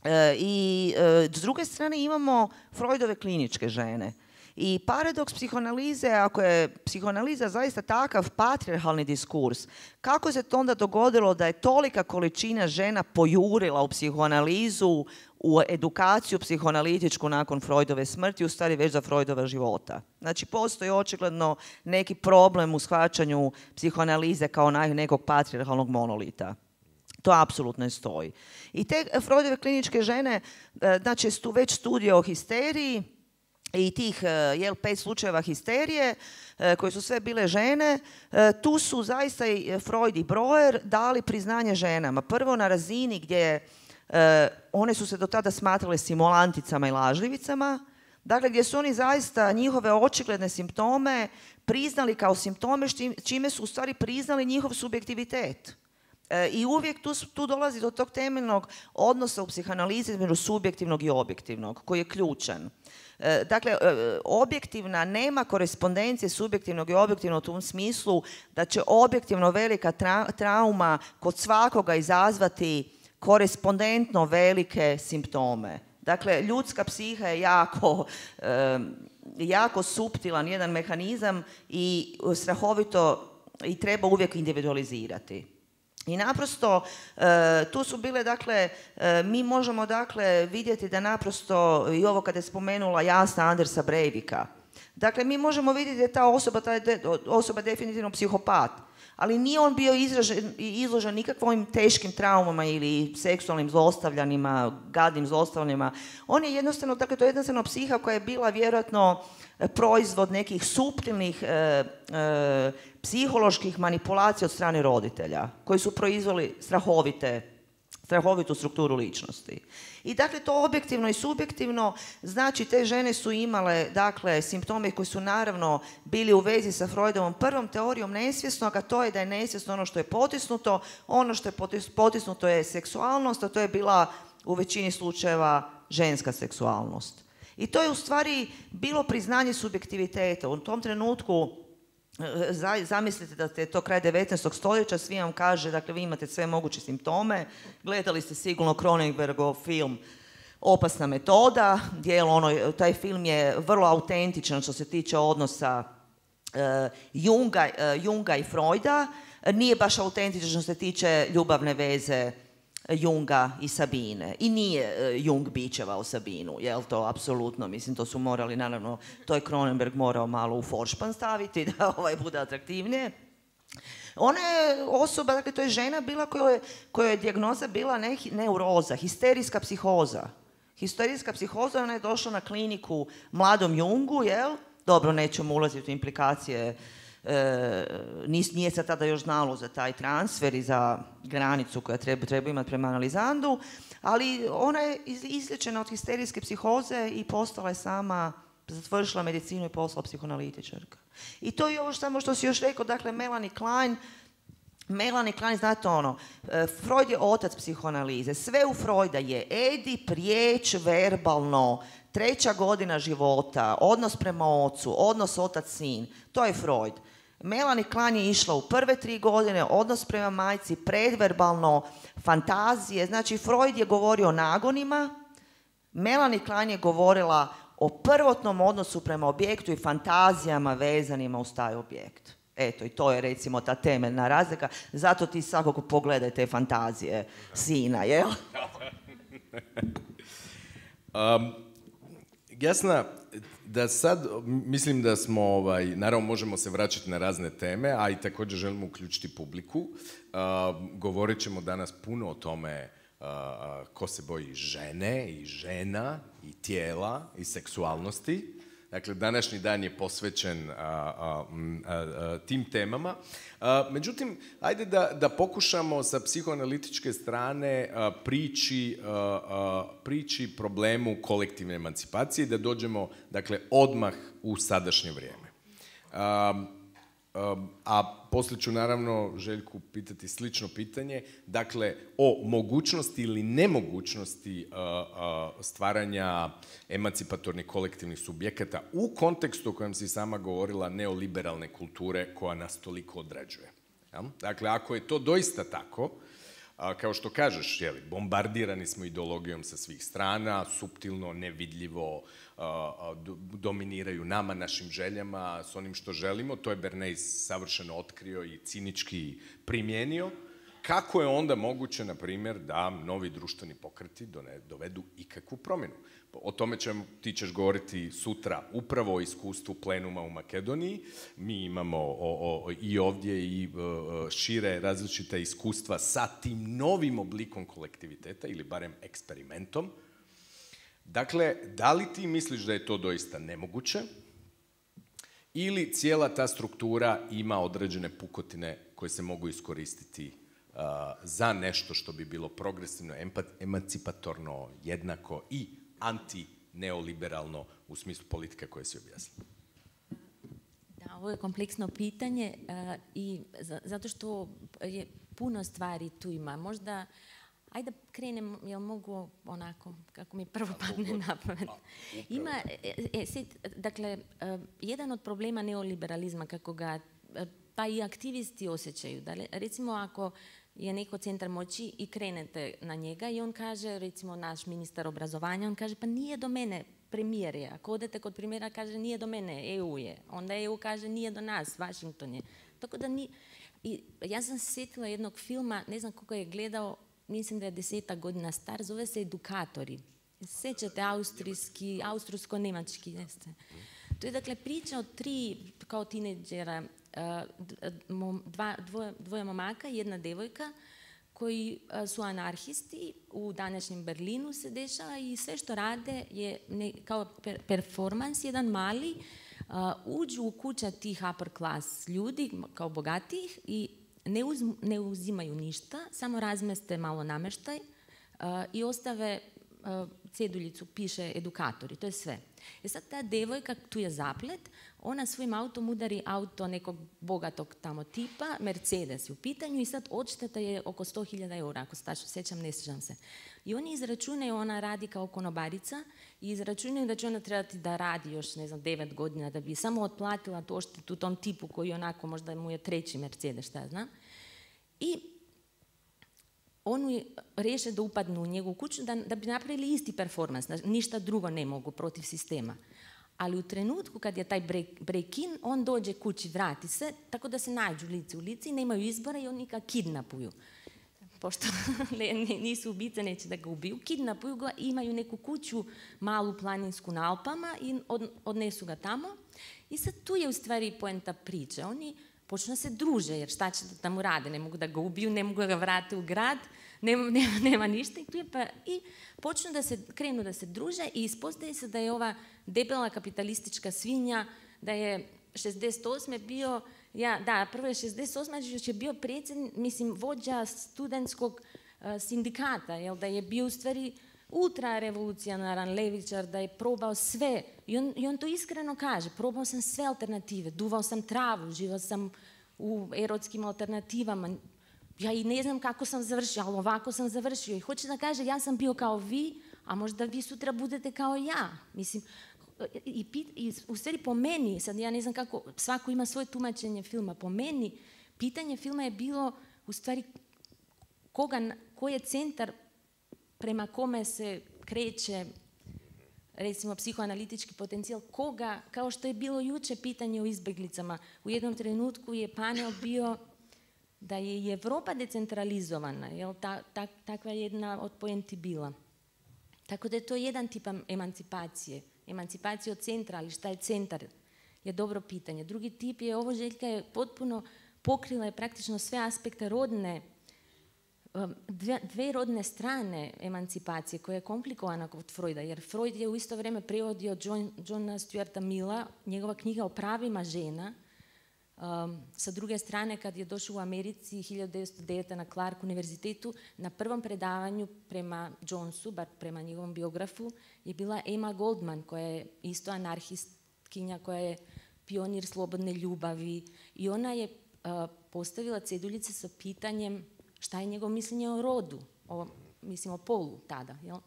E, I e, s druge strane imamo Freudove kliničke žene. I paradoks psihoanalize, ako je psihoanaliza zaista takav patrijarhalni diskurs, kako se to onda dogodilo da je tolika količina žena pojurila u psihoanalizu, u edukaciju psihoanalitičku nakon Freudove smrti, u stvari već za Freudova života. Znači, postoji očigledno neki problem u shvaćanju psihoanalize kao nekog patrijarhalnog monolita. To apsolutno ne stoji. I te Freudove kliničke žene, znači, tu već studije o histeriji, i tih jel, pet slučajeva histerije, koje su sve bile žene, tu su zaista i Freud i Breuer dali priznanje ženama. Prvo na razini gdje one su se do tada smatrale simulanticama i lažljivicama, dakle gdje su oni zaista njihove očigledne simptome priznali kao simptome, čime su u stvari priznali njihov subjektivitet. I uvijek tu, tu dolazi do tog temeljnog odnosa u psihanalizi između subjektivnog i objektivnog, koji je ključan. Dakle, objektivna nema korespondencije subjektivnog i objektivnog u tom smislu da će objektivno velika tra- trauma kod svakoga izazvati korespondentno velike simptome. Dakle, ljudska psiha je jako, jako suptilan jedan mehanizam i strahovito i treba uvijek individualizirati. I naprosto, tu su bile, dakle, mi možemo, dakle, vidjeti da naprosto, i ovo kada je spomenula Jasna Andersa Breivika, dakle, mi možemo vidjeti da je ta osoba, ta je osoba definitivno psihopat, ali nije on bio izražen, izložen nikakvim teškim traumama ili seksualnim zlostavljanjima, gadnim zlostavljanjima. On je jednostavno, dakle, to je jednostavno psiha koja je bila vjerojatno proizvod nekih suptilnih e, e, psiholoških manipulacija od strane roditelja, koji su proizveli strahovite, strahovitu strukturu ličnosti. I dakle, to objektivno i subjektivno, znači te žene su imale, dakle, simptome koji su naravno bili u vezi sa Freudovom prvom teorijom nesvjesnog, a to je da je nesvjesno ono što je potisnuto, ono što je potisnuto je seksualnost, a to je bila u većini slučajeva ženska seksualnost. I to je u stvari bilo priznanje subjektiviteta. U tom trenutku, zamislite da je to kraj devetnaestog stoljeća, svi vam kaže, dakle, vi imate sve moguće simptome, gledali ste sigurno Cronenbergov film Opasna metoda, gdje ono, taj film je vrlo autentičan što se tiče odnosa uh, Junga, uh, Junga i Freuda, nije baš autentičan što se tiče ljubavne veze Junga i Sabine. I nije uh, Jung bičevao Sabinu, jel to apsolutno, mislim, to su morali, naravno, to je Cronenberg morao malo u foršpan staviti da ovaj bude atraktivnije. Ona je osoba, dakle, to je žena bila kojoj, kojoj je dijagnoza bila ne, neuroza, histerijska psihoza. Histerijska psihoza, ona je došla na kliniku mladom Jungu, jel? Dobro, nećemo ulaziti u implikacije, e, nije se tada još znalo za taj transfer i za granicu koja treba, treba imati prema analizandu, ali ona je izliječena od histerijske psihoze i postala je sama, završila medicinu i postala psihoanalitičarka. I to je ovo samo što si još rekao, dakle, Melanie Klein, Melanie Klein, znate ono, Freud je otac psihoanalize, sve u Freuda je Edip, riječ, verbalno, treća godina života, odnos prema ocu, odnos otac-sin, to je Freud. Melanie Klein je išla u prve tri godine, odnos prema majci, predverbalno, fantazije, znači Freud je govorio o nagonima, Melanie Klein je govorila o prvotnom odnosu prema objektu i fantazijama vezanima uz taj objekt. Eto, i to je recimo ta temeljna razlika. Zato ti svakako pogledaj te fantazije sina, jel? um, Jasna, da sad, mislim da smo, ovaj, naravno možemo se vraćati na razne teme, a i također želimo uključiti publiku. Uh, govorit ćemo danas puno o tome uh, ko se boji žene i žena i tijela i seksualnosti. Dakle, današnji dan je posvećen a, a, a, a, tim temama. A, međutim, ajde da, da pokušamo sa psihoanalitičke strane a, prići, a, a, prići problemu kolektivne emancipacije i da dođemo, dakle, odmah u sadašnje vrijeme. A, a, a poslije ću naravno Željku pitati slično pitanje, dakle, o mogućnosti ili nemogućnosti uh, uh, stvaranja emancipatornih kolektivnih subjekata u kontekstu o kojem si sama govorila neoliberalne kulture koja nas toliko određuje. Ja? Dakle, ako je to doista tako, uh, kao što kažeš, jeli, bombardirani smo ideologijom sa svih strana, suptilno, nevidljivo, Uh, dominiraju nama, našim željama, s onim što želimo. To je Bernays savršeno otkrio i cinički primijenio. Kako je onda moguće, na primjer, da novi društveni pokreti dovedu ikakvu promjenu? O tome ćemo, ti ćeš govoriti sutra upravo o iskustvu plenuma u Makedoniji. Mi imamo o, o, i ovdje i o, šire različita iskustva sa tim novim oblikom kolektiviteta ili barem eksperimentom. Dakle, da li ti misliš da je to doista nemoguće ili cijela ta struktura ima određene pukotine koje se mogu iskoristiti uh, za nešto što bi bilo progresivno, emancipatorno, jednako i anti-neoliberalno u smislu politike koje si objasnila? Da, ovo je kompleksno pitanje uh, i za, zato što je puno stvari tu ima. Možda, ajde da krenem, jel mogu onako, kako mi prvo padne na pamet. Ima, e, e, sit, dakle, uh, jedan od problema neoliberalizma, kako ga uh, pa i aktivisti osjećaju. Da, recimo, ako je neko centar moći i krenete na njega i on kaže, recimo naš ministar obrazovanja, on kaže pa nije do mene, premijer je. Ako odete kod premijera kaže nije do mene, E U je. Onda E U kaže nije do nas, Washington je. Tako da ni... I ja sam se sjetila jednog filma, ne znam koga je gledao, mislim da je desetak godina star, zove se Edukatori. Sjećate austrijski, austrijsko-nemački, jeste. To je dakle priča od tri kao tineđera, dva, dvoje, dvoje momaka i jedna devojka koji su anarhisti, u današnjem Berlinu se dešava i sve što rade je ne, kao per, performans, jedan mali, uh, uđu u kuća tih upper class ljudi, kao bogatih i ne, uz, ne uzimaju ništa, samo razmeste malo namještaj uh, i ostave uh, ceduljicu, piše edukatori, to je sve. I sad ta devojka, tu je zaplet, ona svojim autom udari auto nekog bogatog tamo tipa, Mercedes je u pitanju i sad odšteta je oko sto hiljada eura, ako se sjećam, ne sjećam se. I oni izračunaju, ona radi kao konobarica i izračunaju da će ona trebati da radi još, ne znam, devet godina da bi samo otplatila to odštetu tom tipu koji onako možda mu je treći Mercedes, šta ja znam. I oni riješe da upadnu u njegovu kuću da, da bi napravili isti performans, ništa drugo ne mogu protiv sistema. Ali u trenutku kad je taj break, break-in, on dođe kući, vrati se, tako da se nađu lice u lici i nemaju izbora i oni ga kidnapuju. Pošto ne, nisu ubice, neće da ga ubiju, kidnapuju ga i imaju neku kuću, malu planinsku na Alpama i od, odnesu ga tamo. I sad tu je u stvari poenta priče. Oni počnu se druže, jer šta će da tamo rade, ne mogu da ga ubiju, ne mogu da ga vrate u grad, nema, nema, nema ništa. I, tu je pa, i počnu da se, krenu da se druže i ispostaje se da je ova debela kapitalistička svinja, da je šezdeset osme bio, ja, da, prvo je šezdeset osme još je bio predsjednik, mislim, vođa studentskog uh, sindikata, jel, da je bio u stvari ultrarevolucionaran levičar, da je probao sve. I on, I on to iskreno kaže, probao sam sve alternative, duvao sam travu, živao sam u erotskim alternativama. Ja i ne znam kako sam završio, ali ovako sam završio. I hoće da kaže, ja sam bio kao vi, a možda vi sutra budete kao ja. Mislim, i, i u stvari po meni, sad ja ne znam kako, svako ima svoje tumačenje filma, po meni pitanje filma je bilo u stvari koga, koji je centar prema kome se kreće, recimo, psihoanalitički potencijal, koga, kao što je bilo juče pitanje o izbjeglicama. U jednom trenutku je panel bio da je i Europa decentralizovana, jel, ta, ta, takva jedna od poenti bila. Tako da je to jedan tip emancipacije. Emancipacija od centra, ali šta je centar, je dobro pitanje. Drugi tip je, ovo Željka je potpuno pokrila je praktično sve aspekte rodne, dve, dve rodne strane emancipacije koja je komplikovana kod Freuda, jer Freud je u isto vrijeme prevodio John, Johna Stuarta Milla, njegova knjiga o pravima žena. Um, sa druge strane, kad je došao u Americi hiljadu devetsto devete. na Clark univerzitetu, na prvom predavanju prema Jonesu, bar prema njegovom biografu, je bila Emma Goldman, koja je isto anarhistkinja, koja je pionir slobodne ljubavi. I ona je uh, postavila ceduljice sa pitanjem šta je njegovo mišljenje o rodu, o, mislim o polu tada. Jel?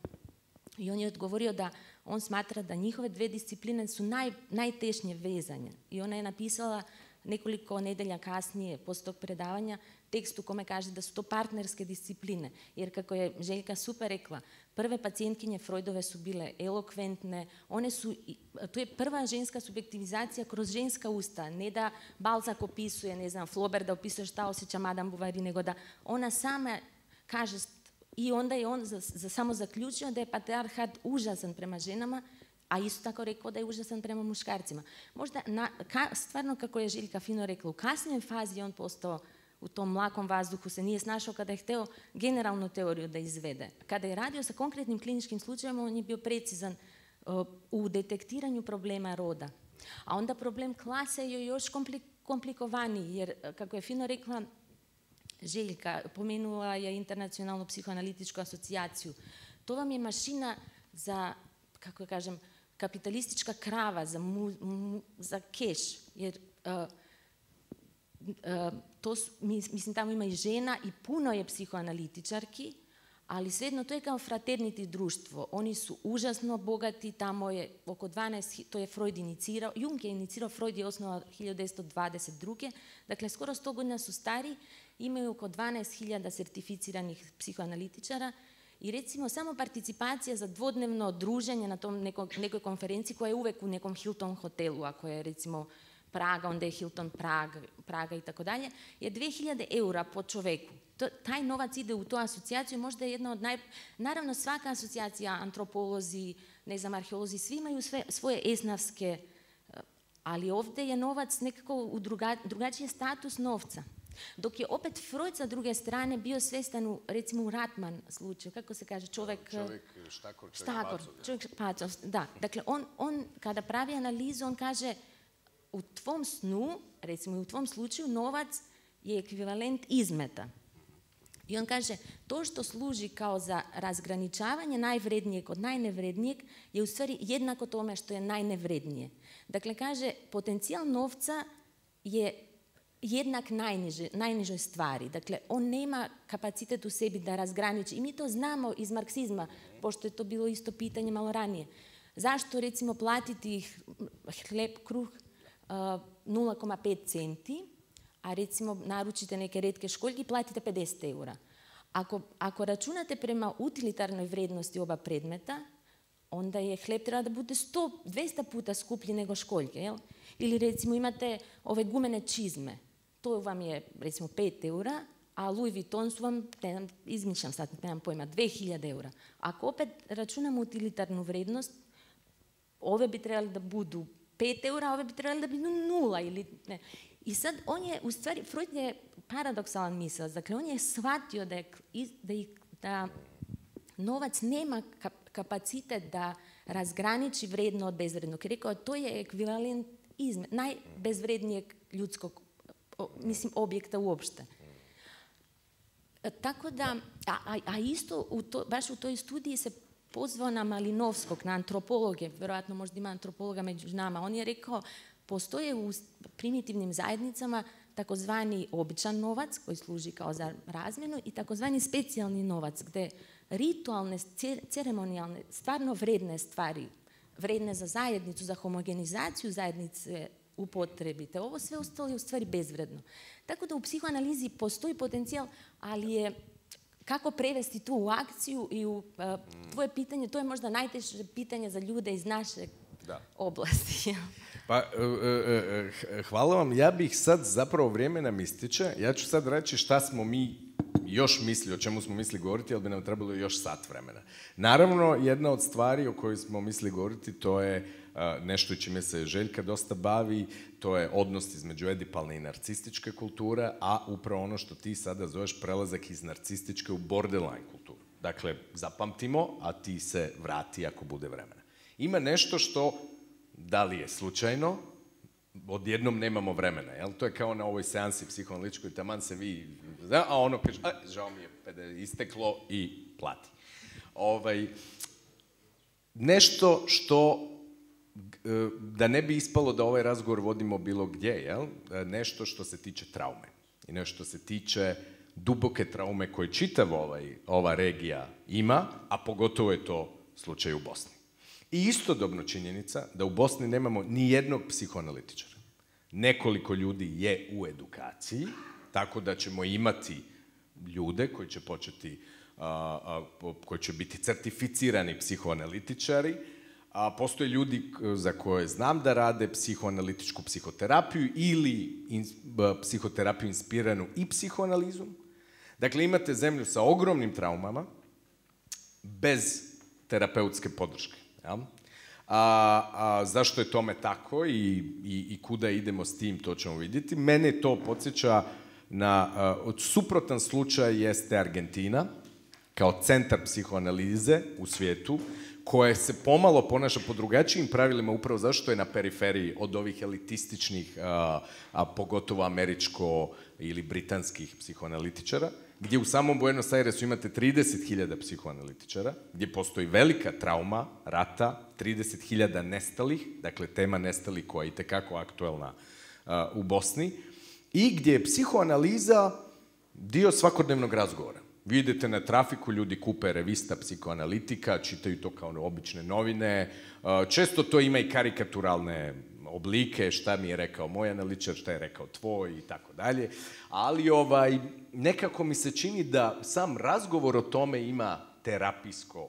I on je odgovorio da on smatra da njihove dve discipline su naj, najtešnje vezanje. I ona je napisala nekoliko nedelja kasnije, poslije tog predavanja, tekst u kome kaže da su to partnerske discipline. Jer kako je Željka super rekla, prve pacijentkinje Freudove su bile elokventne, one su, to je prva ženska subjektivizacija kroz ženska usta, ne da Balzac opisuje, ne znam, Flaubert da opisuje šta osjeća Madame Bovary, nego da ona sama kaže, i onda je on za, za samo zaključio da je patrijarhat užasan prema ženama, a isto tako rekao da je užasan prema muškarcima. Možda, na, ka, stvarno kako je Željka fino rekla, u kasnijoj fazi je on postao u tom mlakom vazduhu se nije snašao kada je hteo generalnu teoriju da izvede. Kada je radio sa konkretnim kliničkim slučajevima, on je bio precizan uh, u detektiranju problema roda. A onda problem klase je još komplik komplikovaniji, jer, kako je fino rekla Željka, pomenula je Internacionalnu psihoanalitičku asocijaciju. To vam je mašina za, kako kažem, kapitalistička krava, za, mu, mu, za keš. Jer uh, uh, to su, mislim, tamo ima i žena i puno je psihoanalitičarki, ali svejedno to je kao fraternity društvo. Oni su užasno bogati, tamo je oko dvanaest, to je Freud inicirao, Jung je inicirao, Freud je osnovao hiljadu devetsto dvadeset druge. Dakle, skoro sto godina su stari, imaju oko dvanaest hiljada certificiranih psihoanalitičara i recimo samo participacija za dvodnevno druženje na tom neko, nekoj konferenciji koja je uvek u nekom Hilton hotelu, ako je recimo Praga, onda je Hilton Praga, Praga i tako dalje, je dve hiljade eura po čoveku. To, taj novac ide u tu asocijaciju, možda je jedna od naj... Naravno, svaka asocijacija, antropolozi, ne znam, arheolozi, svi imaju sve, svoje esnavske, ali ovdje je novac nekako u druga, drugačiji status novca. Dok je opet Freud sa druge strane bio svestan u, recimo u Ratman slučaju, kako se kaže, čovjek... Čovjek štakor, čovjek štakor, pacov. Čovjek pacov, da. Dakle, on, on kada pravi analizu, on kaže u tvom snu, recimo u tvom slučaju, novac je ekvivalent izmeta. I on kaže, to što služi kao za razgraničavanje najvrednijeg od najnevrednijeg je u stvari jednako tome što je najnevrednije. Dakle, kaže, potencijal novca je jednak najniže, najnižoj stvari. Dakle, on nema kapacitet u sebi da razgraniči. I mi to znamo iz marksizma, pošto je to bilo isto pitanje malo ranije. Zašto, recimo, platiti hleb, kruh uh, nula zarez pet centi, a recimo naručite neke retke školjke i platite pedeset eura. Ako, ako računate prema utilitarnoj vrednosti oba predmeta, onda je hleb treba da bude sto do dvesta puta skuplji nego školjke. Jel? Ili recimo imate ove gumene čizme. To vam je recimo pet eura, a Louis Vuitton su vam, ne znam, izmišljam sad, nemam pojma, dve hiljade eura. Ako opet računamo utilitarnu vrednost, ove bi trebali da budu pet eura, a ove bi trebali da budu nula ili ne. I sad on je, u stvari, Freud je paradoksalan misao. Dakle, on je shvatio da, je, da, da novac nema kapacitet da razgraniči vredno od bezvrednog. Rekao, to je ekvivalent izme, najbezvrednijeg ljudskog, mislim, objekta uopšte. Tako da, a, a, a isto, u to, baš u toj studiji se pozvao na Malinovskog, na antropologe, vjerojatno možda ima antropologa među nama. On je rekao, postoje u primitivnim zajednicama takozvani običan novac koji služi kao za razmjenu i takozvani specijalni novac gdje ritualne, ceremonijalne, stvarno vredne stvari, vredne za zajednicu, za homogenizaciju zajednice upotrebite. Ovo sve ostalo je u stvari bezvredno. Tako da u psihoanalizi postoji potencijal, ali je kako prevesti tu u akciju i u uh, tvoje pitanje, to je možda najteže pitanje za ljude iz naše da. oblasti. Pa, hvala vam. Ja bih sad, zapravo vrijeme nam ističe, ja ću sad reći šta smo mi još mislili, o čemu smo mislili govoriti, ali bi nam trebalo još sat vremena. Naravno, jedna od stvari o kojoj smo mislili govoriti, to je nešto čime se Željka dosta bavi, to je odnos između edipalne i narcističke kulture, a upravo ono što ti sada zoveš prelazak iz narcističke u borderline kulturu. Dakle, zapamtimo, a ti se vrati ako bude vremena. Ima nešto što, da li je slučajno, odjednom nemamo vremena, jel? To je kao na ovoj seansi psihoanalitičkoj, taman se vi, a ono kaže, a, žao mi je, isteklo i plati. Ovaj, nešto što, da ne bi ispalo da ovaj razgovor vodimo bilo gdje, jel? Nešto što se tiče traume i nešto što se tiče duboke traume koje čitava ovaj, ova regija ima, a pogotovo je to slučaj u Bosni. I istodobno činjenica da u Bosni nemamo ni jednog psihoanalitičara. Nekoliko ljudi je u edukaciji, tako da ćemo imati ljude koji će početi, a, a, koji će biti certificirani psihoanalitičari, a postoje ljudi za koje znam da rade psihoanalitičku psihoterapiju ili in, psihoterapiju inspiranu i psihoanalizom. Dakle, imate zemlju sa ogromnim traumama, bez terapeutske podrške. Ja? A, a zašto je tome tako i, i, i kuda idemo s tim, to ćemo vidjeti. Mene to podsjeća na uh, od suprotan slučaj jeste Argentina, kao centar psihoanalize u svijetu, koje se pomalo ponaša po drugačijim pravilima upravo zašto je na periferiji od ovih elitističnih, a, a pogotovo američko ili britanskih psihoanalitičara, gdje u samom Buenos Airesu imate trideset hiljada psihoanalitičara, gdje postoji velika trauma rata, trideset hiljada nestalih, dakle tema nestalih koja je itekako aktuelna a, u Bosni, i gdje je psihoanaliza dio svakodnevnog razgovora. Vi idete na trafiku, ljudi kupe revista psihoanalitika, čitaju to kao obične novine, često to ima i karikaturalne oblike, šta mi je rekao moj analitičar, šta je rekao tvoj i tako dalje, ali ovaj, nekako mi se čini da sam razgovor o tome ima terapijsko uh,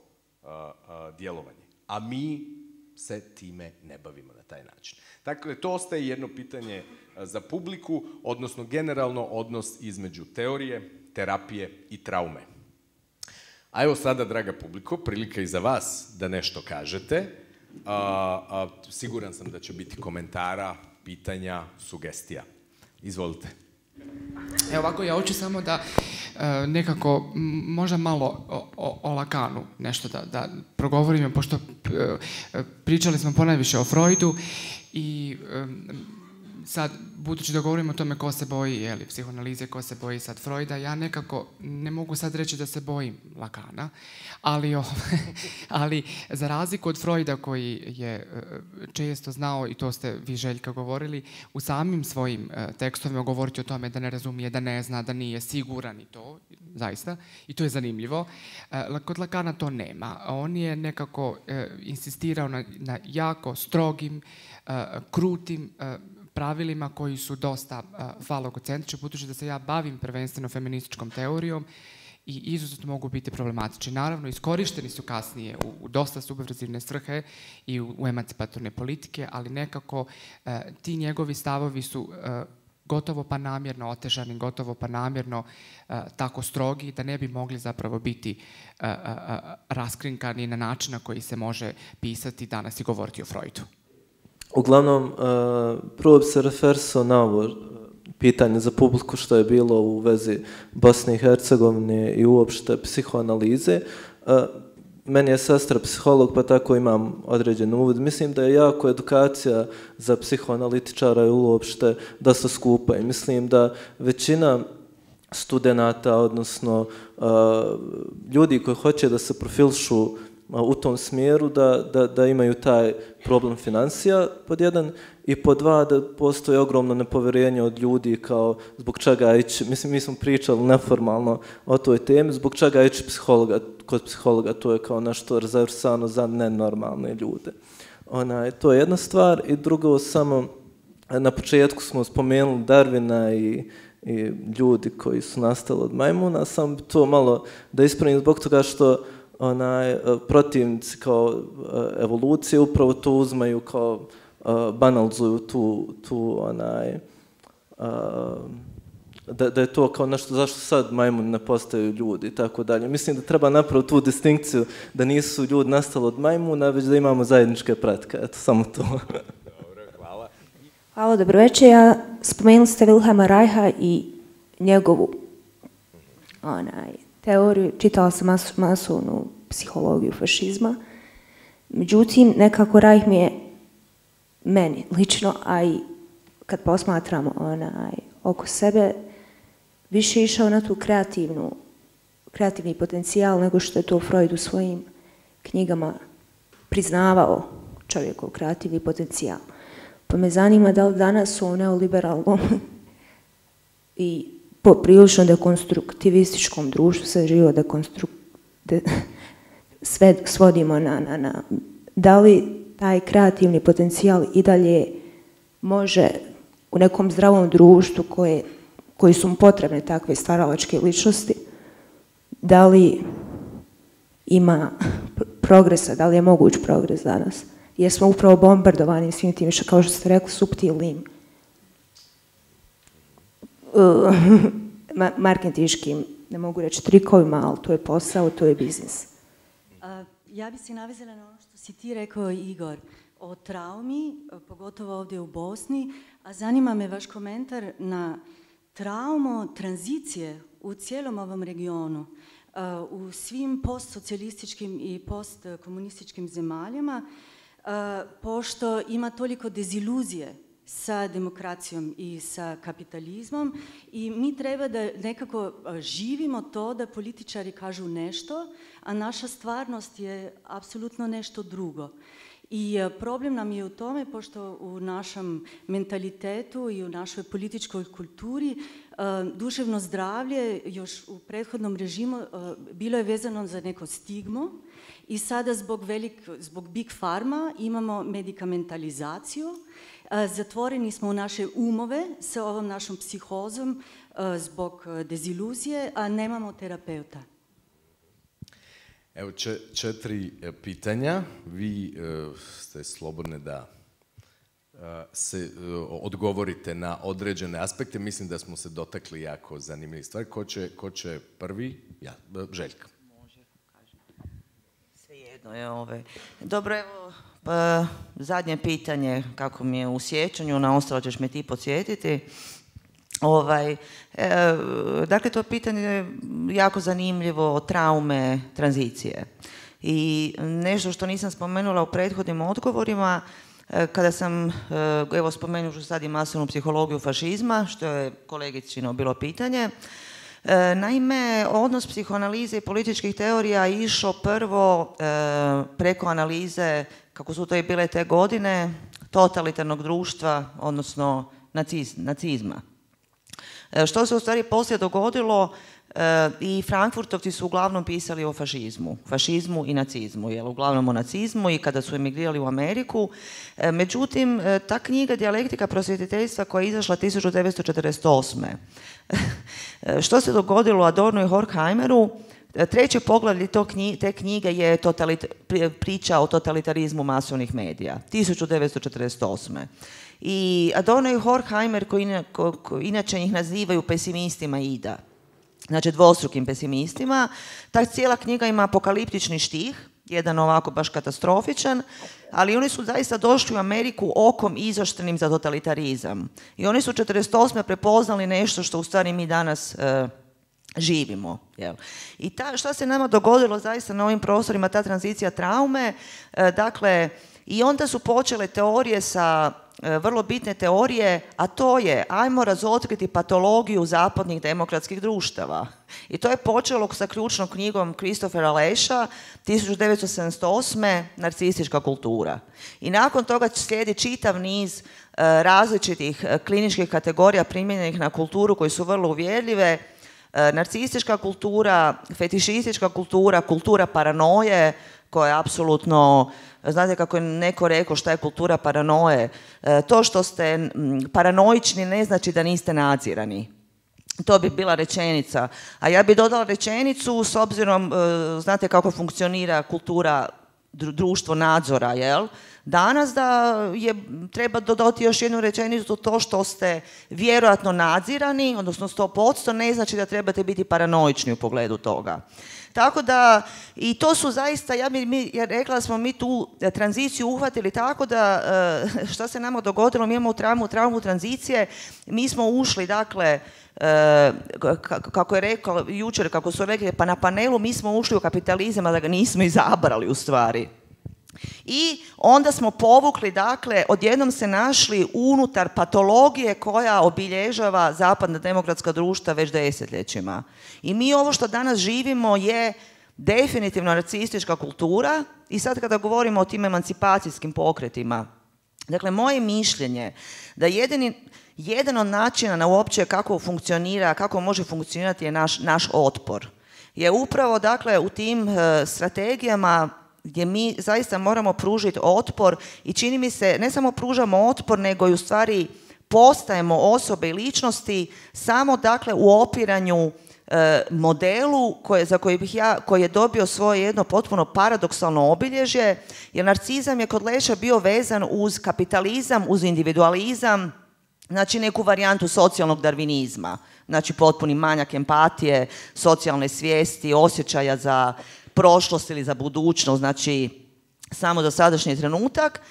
uh, djelovanje, a mi se time ne bavimo na taj način. Dakle, to ostaje jedno pitanje za publiku, odnosno generalno odnos između teorije, terapije i traume. A evo sada, draga publiko, prilika i za vas da nešto kažete. A, a, siguran sam da će biti komentara, pitanja, sugestija. Izvolite. Evo ovako, ja hoću samo da e, nekako možda malo o, o, o Lacanu nešto da, da progovorimo, pošto e, pričali smo ponajviše o Freudu i e, sad, budući da govorimo o tome ko se boji, jeli, psihoanalize, ko se boji sad Freuda, ja nekako ne mogu sad reći da se bojim Lacana, ali, o, ali za razliku od Freuda koji je često znao, i to ste vi, Željka, govorili, u samim svojim tekstovima govoriti o tome da ne razumije, da ne zna, da nije siguran i to, zaista, i to je zanimljivo. Kod Lacana to nema. On je nekako insistirao na, na jako strogim, krutim pravilima koji su dosta uh, falogocentrični, budući da se ja bavim prvenstveno feminističkom teorijom i izuzetno mogu biti problematični. Naravno, iskorišteni su kasnije u, u dosta subverzivne svrhe i u, u emancipatorne politike, ali nekako uh, ti njegovi stavovi su uh, gotovo pa namjerno otežani, gotovo pa namjerno uh, tako strogi da ne bi mogli zapravo biti uh, uh, uh, raskrinkani na način na koji se može pisati danas i govoriti o Freudu. Uglavnom, uh, prvo bi se referisao na ovo pitanje za publiku što je bilo u vezi Bosne i Hercegovine i uopšte psihoanalize. Uh, meni je sestra psiholog, pa tako imam određen uvod. Mislim da je jako edukacija za psihoanalitičara i uopšte dosta skupa. I mislim da većina studenata, odnosno uh, ljudi koji hoće da se profilišu u tom smjeru, da, da, da imaju taj problem financija, pod jedan, i pod dva, da postoji ogromno nepovjerenje od ljudi kao zbog čega ići, mislim, mi smo pričali neformalno o toj temi, zbog čega ići psihologa, kod psihologa, to je kao nešto rezervisano za nenormalne ljude. Ona, to je jedna stvar, i drugo, samo na početku smo spomenuli Darwina i, i ljudi koji su nastali od majmuna, sam to malo da ispravim zbog toga što onaj, protivnici kao evolucije upravo to uzmaju kao uh, banalizuju tu, tu onaj, uh, da, da je to kao nešto zašto sad majmuni ne postaju ljudi i tako dalje. Mislim da treba napraviti tu distinkciju da nisu ljudi nastali od majmuna, već da imamo zajedničke pretke. Eto, samo to. Dobro, hvala. Hvala, dobro večer. Ja spomenuli ste Wilhelma Reicha i njegovu onaj, teoriju, čitala sam mas, masovnu psihologiju fašizma, međutim, nekako Reich mi je, meni lično, a i kad posmatramo onaj, oko sebe, više išao na tu kreativnu, kreativni potencijal nego što je to Freud u svojim knjigama priznavao čovjekov kreativni potencijal. Pa me zanima da li danas u neoliberalnom i poprilično dekonstruktivističkom društvu se živo dekonstruk... De, sve svodimo na, na, na... Da li taj kreativni potencijal i dalje može u nekom zdravom društvu koje, koji su mu potrebne takve stvaralačke ličnosti, da li ima progresa, da li je moguć progres danas? Jer smo upravo bombardovani svim tim, kao što ste rekli, suptilnim Uh, marketinškim, ne mogu reći trikovima, ali to je posao, to je biznis. Uh, ja bi se navezala na ono što si ti rekao, Igor, o traumi, pogotovo ovdje u Bosni, a zanima me vaš komentar na traumu tranzicije u cijelom ovom regionu, u svim postsocijalističkim i postkomunističkim zemaljama, pošto ima toliko deziluzije sa demokracijom i sa kapitalizmom i mi treba da nekako živimo to da političari kažu nešto, a naša stvarnost je apsolutno nešto drugo. I problem nam je u tome, pošto u našem mentalitetu i u našoj političkoj kulturi duševno zdravlje još u prethodnom režimu bilo je vezano za neko stigmu i sada zbog, velik, zbog Big Pharma imamo medikamentalizaciju, zatvoreni smo u naše umove sa ovom našom psihozom zbog deziluzije, a nemamo terapeuta. Evo četiri pitanja. Vi ste slobodni da se odgovorite na određene aspekte. Mislim da smo se dotakli jako zanimljivih stvari. Ko će, ko će prvi? Ja, Željka. Može, kažem. Svejedno je ove. Dobro, evo, pa, zadnje pitanje, kako mi je u sjećanju, na ostalo ćeš me ti podsjetiti. Ovaj, e, dakle, to pitanje je jako zanimljivo, traume tranzicije. I nešto što nisam spomenula u prethodnim odgovorima, e, kada sam, e, evo spomenut ću sad i masovnu psihologiju fašizma, što je kolegicino bilo pitanje. E, naime, odnos psihoanalize i političkih teorija je išao prvo e, preko analize, kako su to i bile te godine, totalitarnog društva, odnosno naciz, nacizma. Što se u stvari poslije dogodilo, e, i Frankfurtovci su uglavnom pisali o fašizmu, fašizmu i nacizmu, jel, uglavnom o nacizmu i kada su emigrirali u Ameriku. E, međutim, e, ta knjiga Dijalektika prosvjetiteljstva koja je izašla tisuću devetsto četrdeset osme Što se dogodilo Adornu i Horkheimeru? Treće poglavlje te knjige je priča o totalitarizmu masovnih medija, tisuću devetsto četrdeset osme I Adorno i Horkheimer, koji ko, ko, inače ih nazivaju pesimistima ida, znači dvostrukim pesimistima, ta cijela knjiga ima apokaliptični štih, jedan ovako baš katastrofičan, ali oni su zaista došli u Ameriku okom izoštrenim za totalitarizam. I oni su četrdeset osme prepoznali nešto što u stvari mi danas e, živimo. Jel? I ta, šta se nama dogodilo zaista na ovim prostorima, ta tranzicija traume, e, dakle, i onda su počele teorije sa vrlo bitne teorije, a to je ajmo razotkriti patologiju zapadnih demokratskih društava. I to je počelo sa ključnom knjigom Christophera Lesha tisuću devetsto sedamdeset osme Narcistička kultura. I nakon toga slijedi čitav niz različitih kliničkih kategorija primijenjenih na kulturu koji su vrlo uvjerljive. Narcistička kultura, fetišistička kultura, kultura paranoje, koja je apsolutno, znate kako je neko rekao šta je kultura paranoje, to što ste paranoični ne znači da niste nadzirani. To bi bila rečenica. A ja bi dodala rečenicu s obzirom, znate kako funkcionira kultura društvo nadzora, jel? Danas da je, treba dodati još jednu rečenicu, to što ste vjerojatno nadzirani, odnosno sto posto, ne znači da trebate biti paranoični u pogledu toga. Tako da, i to su zaista, ja bi mi, ja rekla da smo mi tu tranziciju uhvatili tako da, šta se nama dogodilo, mi imamo traumu, traumu tranzicije, mi smo ušli, dakle, kako je rekao jučer, kako su rekli, pa na panelu mi smo ušli u kapitalizam, a da ga nismo izabrali u stvari. I onda smo povukli, dakle, odjednom se našli unutar patologije koja obilježava zapadna demokratska društva već desetljećima. I mi ovo što danas živimo je definitivno narcistička kultura i sad kada govorimo o tim emancipacijskim pokretima, dakle, moje mišljenje da jedini, jedan od načina na uopće kako funkcionira, kako može funkcionirati je naš, naš otpor. Je upravo, dakle, u tim uh, strategijama gdje mi zaista moramo pružiti otpor i čini mi se, ne samo pružamo otpor, nego i u stvari postajemo osobe i ličnosti samo, dakle, u opiranju e, modelu koje, za koji bih ja, koji je dobio svoje jedno potpuno paradoksalno obilježje, jer narcizam je kod Lesha bio vezan uz kapitalizam, uz individualizam, znači neku varijantu socijalnog darvinizma, znači potpuni manjak empatije, socijalne svijesti, osjećaja za prošlost ili za budućnost, znači samo za sadašnji trenutak,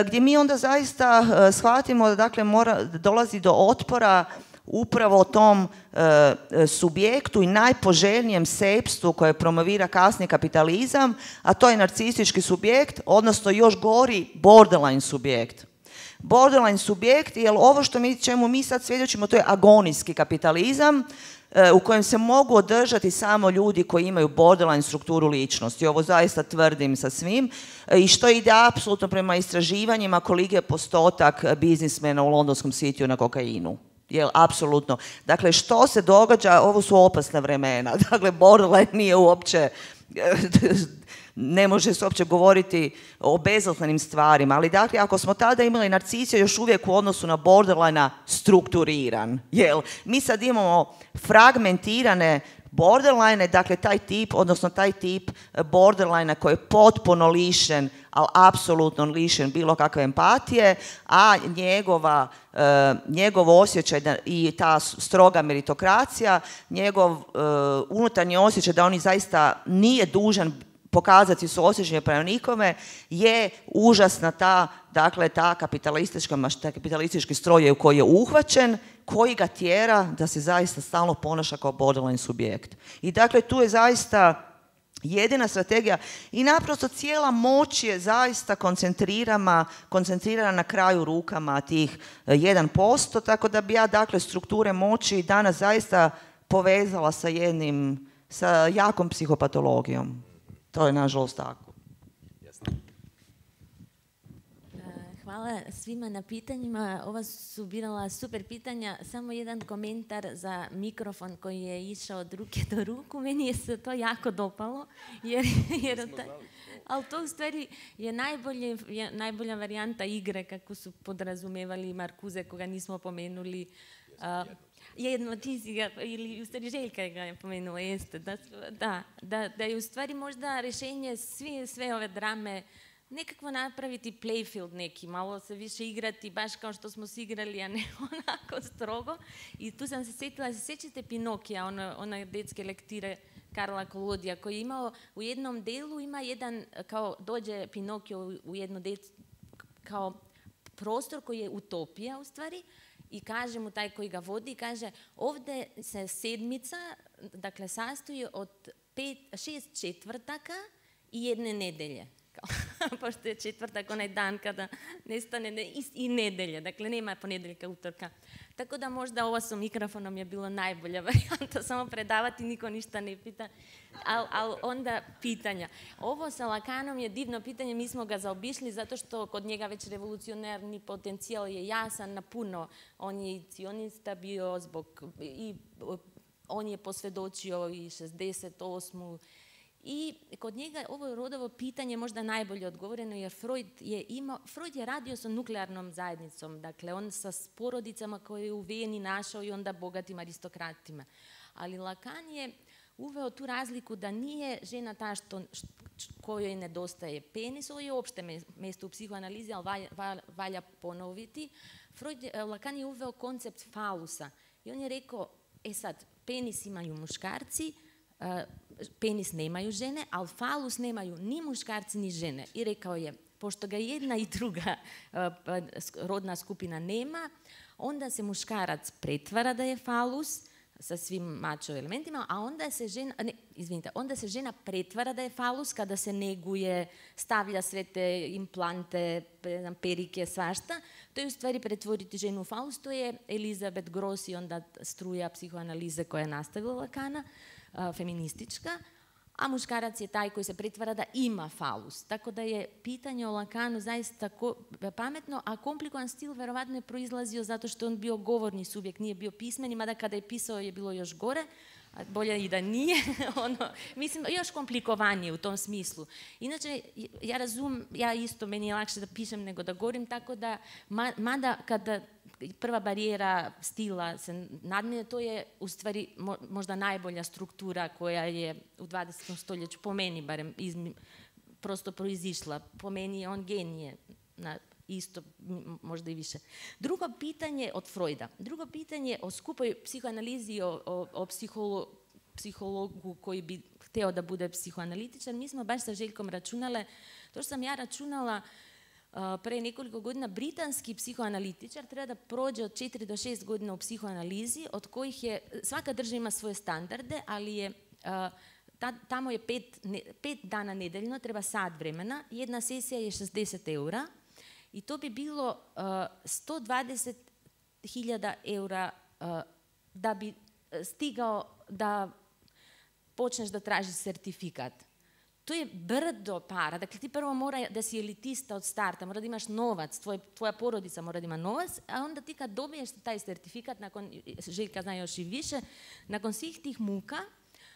gdje mi onda zaista shvatimo da, dakle, mora, dolazi do otpora upravo tom e, subjektu i najpoželjnijem sejpstvu koje promovira kasni kapitalizam, a to je narcistički subjekt, odnosno još gori borderline subjekt. Borderline subjekt, jer ovo što mi, čemu mi sad svjedočimo, to je agonijski kapitalizam, u kojem se mogu održati samo ljudi koji imaju borderline strukturu ličnosti. Ovo zaista tvrdim sa svim. I što ide apsolutno prema istraživanjima koliki je postotak biznismena u londonskom sitiju na kokainu. Jel, apsolutno. Dakle, što se događa, ovo su opasna vremena. Dakle, borderline nije uopće, ne može se uopće govoriti o bezazlenim stvarima, ali dakle, ako smo tada imali narcisiju još uvijek u odnosu na borderline strukturiran, jel, mi sad imamo fragmentirane borderline, dakle, taj tip, odnosno taj tip borderline koji je potpuno lišen, ali apsolutno lišen bilo kakve empatije, a njegova, uh, njegov osjećaj da, i ta stroga meritokracija, njegov uh, unutarnji osjećaj da on zaista nije dužan pokazati suosjećanje prema nikome, je užasna ta, dakle, ta kapitalistička, taj kapitalistički stroj u koji je uhvaćen, koji ga tjera da se zaista stalno ponaša kao borderline subjekt. I dakle, tu je zaista jedina strategija i naprosto cijela moć je zaista koncentrirana, koncentrirana na kraju rukama tih jedan posto, tako da bi ja, dakle, strukture moći danas zaista povezala sa jednim, sa jakom psihopatologijom. To je nažalost tako. Hvala svima na pitanjima. Ova su birala super pitanja. Samo jedan komentar za mikrofon koji je išao od ruke do ruku. Meni je se to jako dopalo. Jer, jer ta, ali to u stvari je, najbolje, je najbolja varijanta igre kako su podrazumevali Marcuse, koga nismo pomenuli. Uh, Jedno, ti si ga, ili u stvari Željka ga je pomenula, jeste, da, da, da, da je u stvari možda rješenje svi, sve ove drame nekako napraviti playfield neki, malo se više igrati, baš kao što smo se igrali, a ne onako strogo. I tu sam se sjetila, se sjećate Pinokija, ono, one detske lektire Karla Kolodija, koji je imao u jednom delu, ima jedan, kao dođe Pinokio u jednu dec, kao prostor koji je utopija u stvari, i kaže mu taj koji ga vodi, kaže ovdje se sedmica, dakle, sastoji od pet, šest četvrtaka i jedne nedelje. Pošto je četvrtak onaj dan kada nestane ne, i, i nedelje, dakle nema ponedjeljka, utorka. Tako da možda ovo sa mikrofonom je bilo najbolja varijanta, samo predavati, niko ništa ne pita, ali al onda pitanja. Ovo sa Lakanom je divno pitanje, mi smo ga zaobišli zato što kod njega već revolucionarni potencijal je jasan na puno. On je i cionista bio zbog, i on je posvjedočio i šezdeset osmu. I kod njega ovo rodovo pitanje možda najbolje odgovoreno, jer Freud je imao, Freud je radio sa nuklearnom zajednicom, dakle on sa porodicama koje je u Veni našao i onda bogatim aristokratima. Ali Lacan je uveo tu razliku da nije žena ta što, kojoj nedostaje penis, ovo je opšte mjesto u psihoanalizi, ali valja, valja ponoviti. Freud, Lacan je uveo koncept falusa i on je rekao, e sad, penis imaju muškarci, penis nemaju žene, ali falus nemaju ni muškarci ni žene. I rekao je, pošto ga jedna i druga rodna skupina nema, onda se muškarac pretvara da je falus sa svim mačo elementima, a onda se žena, ne, izvinite, onda se žena pretvara da je falus kada se neguje, stavlja sve te implante, perike, svašta. To je u stvari pretvoriti ženu u falus, to je Elizabeth Gross i onda struja psihoanalize koja je nastavila Lacana, feministička, a muškarac je taj koji se pretvara da ima falus. Tako da je pitanje o Lacanu zaista pametno, a komplikovan stil verovatno je proizlazio zato što on bio govorni subjekt, nije bio pismeni, mada kada je pisao je bilo još gore, a bolje i da nije, ono, mislim, još komplikovanije u tom smislu. Inače, ja razum, ja isto, meni je lakše da pišem nego da govorim, tako da, mada kada prva barijera stila se nadmine, to je u stvari možda najbolja struktura koja je u dvadesetom stoljeću, po meni barem, izmi, prosto proizišla. Po meni je on genije, na isto, možda i više. Drugo pitanje od Freuda. Drugo pitanje o skupoj psihoanalizi, o, o, o psiholo, psihologu koji bi hteo da bude psihoanalitičan. Mi smo baš sa Željkom računale, to što sam ja računala, pre nekoliko godina britanski psihoanalitičar treba da prođe od četiri do šest godina u psihoanalizi, od kojih je, svaka država ima svoje standarde, ali je, ta, tamo je pet, ne, pet dana nedeljno, treba sat vremena, jedna sesija je šezdeset eura i to bi bilo uh, sto dvadeset hiljada eura uh, da bi stigao da počneš da tražiš sertifikat. To je brdo para. Dakle, ti prvo mora da si elitista od starta, mora da imaš novac, tvoj, tvoja porodica mora da ima novac, a onda ti kad dobiješ taj sertifikat, nakon, Željka zna još i više, nakon svih tih muka,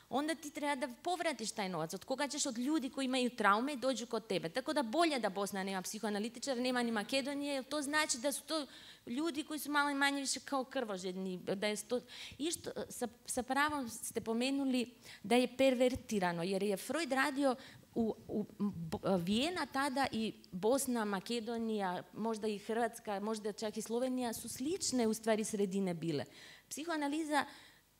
onda ti treba da povratiš taj novac. Od koga ćeš? Od ljudi koji imaju traume i dođu kod tebe. Tako da bolje da Bosna nema psihoanalitičara, nema ni Makedonije, jer to znači da su to ljudi koji su malo i manje više kao krvožedni. Da je to, išto, sa, sa pravom ste pomenuli da je pervertirano, jer je Freud radio u, u Vijena tada i Bosna, Makedonija, možda i Hrvatska, možda čak i Slovenija su slične u stvari sredine bile. Psihoanaliza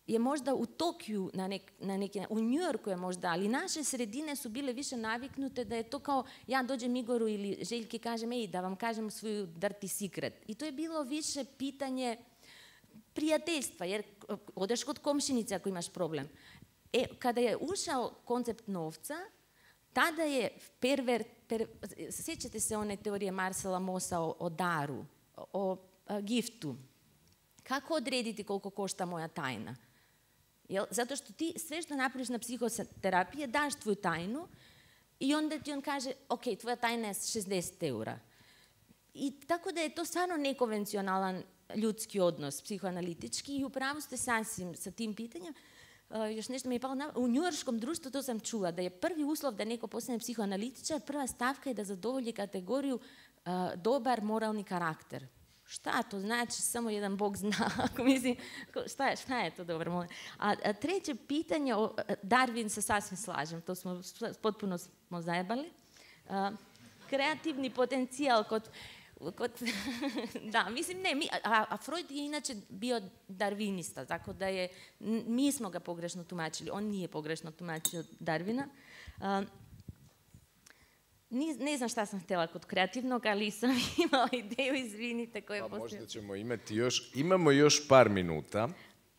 je možda u Tokiju, na nek, na neki, u New Yorku je možda, ali naše sredine su bile više naviknute da je to kao ja dođem Igoru ili Željki kažem ej, da vam kažem svoju dirty secret. I to je bilo više pitanje prijateljstva, jer odeš kod komšinice ako imaš problem. E, kada je ušao koncept novca, tada je perver, per, sjećate se one teorije Marcela Mossa o, o daru, o, o a, giftu. Kako odrediti koliko košta moja tajna? Jel? Zato što ti sve što napraviš na psihoterapiji daš tvoju tajnu i onda ti on kaže, ok, tvoja tajna je šezdeset eura. I tako da je to stvarno nekonvencionalan ljudski odnos, psihoanalitički, i upravo ste sasvim sa tim pitanjem. Uh, još nešto mi je palo na... U njujorškom društvu to sam čula, da je prvi uslov da neko postane psihoanalitičar, prva stavka je da zadovolji kategoriju uh, dobar moralni karakter. Šta to znači? Samo jedan Bog zna. Ako mislim, šta, je, šta je to dobro? A, a treće pitanje, o Darwin se sasvim slažem, to smo potpuno smo zajebali. A, kreativni potencijal kod... kod da, mislim, ne, mi, a, a Freud je inače bio darvinista, tako da je, mi smo ga pogrešno tumačili, on nije pogrešno tumačio Darwina. A, Ne znam šta sam htjela kod kreativnog, ali sam imala ideju, izvinite, koje pa postoje. Možda ćemo imati još, imamo još par minuta.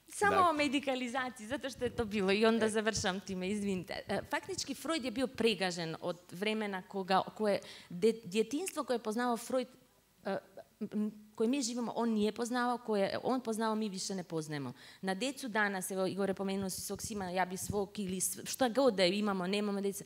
Samo dakle. o medikalizaciji, zato što je to bilo i onda završam time, izvinite. Faktički Freud je bio pregažen od vremena koga, koje, djetinjstvo koje je poznavao Freud, koje mi živimo, on nije poznavao, koje on poznavao, mi više ne poznajemo. Na djecu danas, evo Igor je pomenuo si svog sina, ja bi svog ili šta god da imamo, nemamo djeca.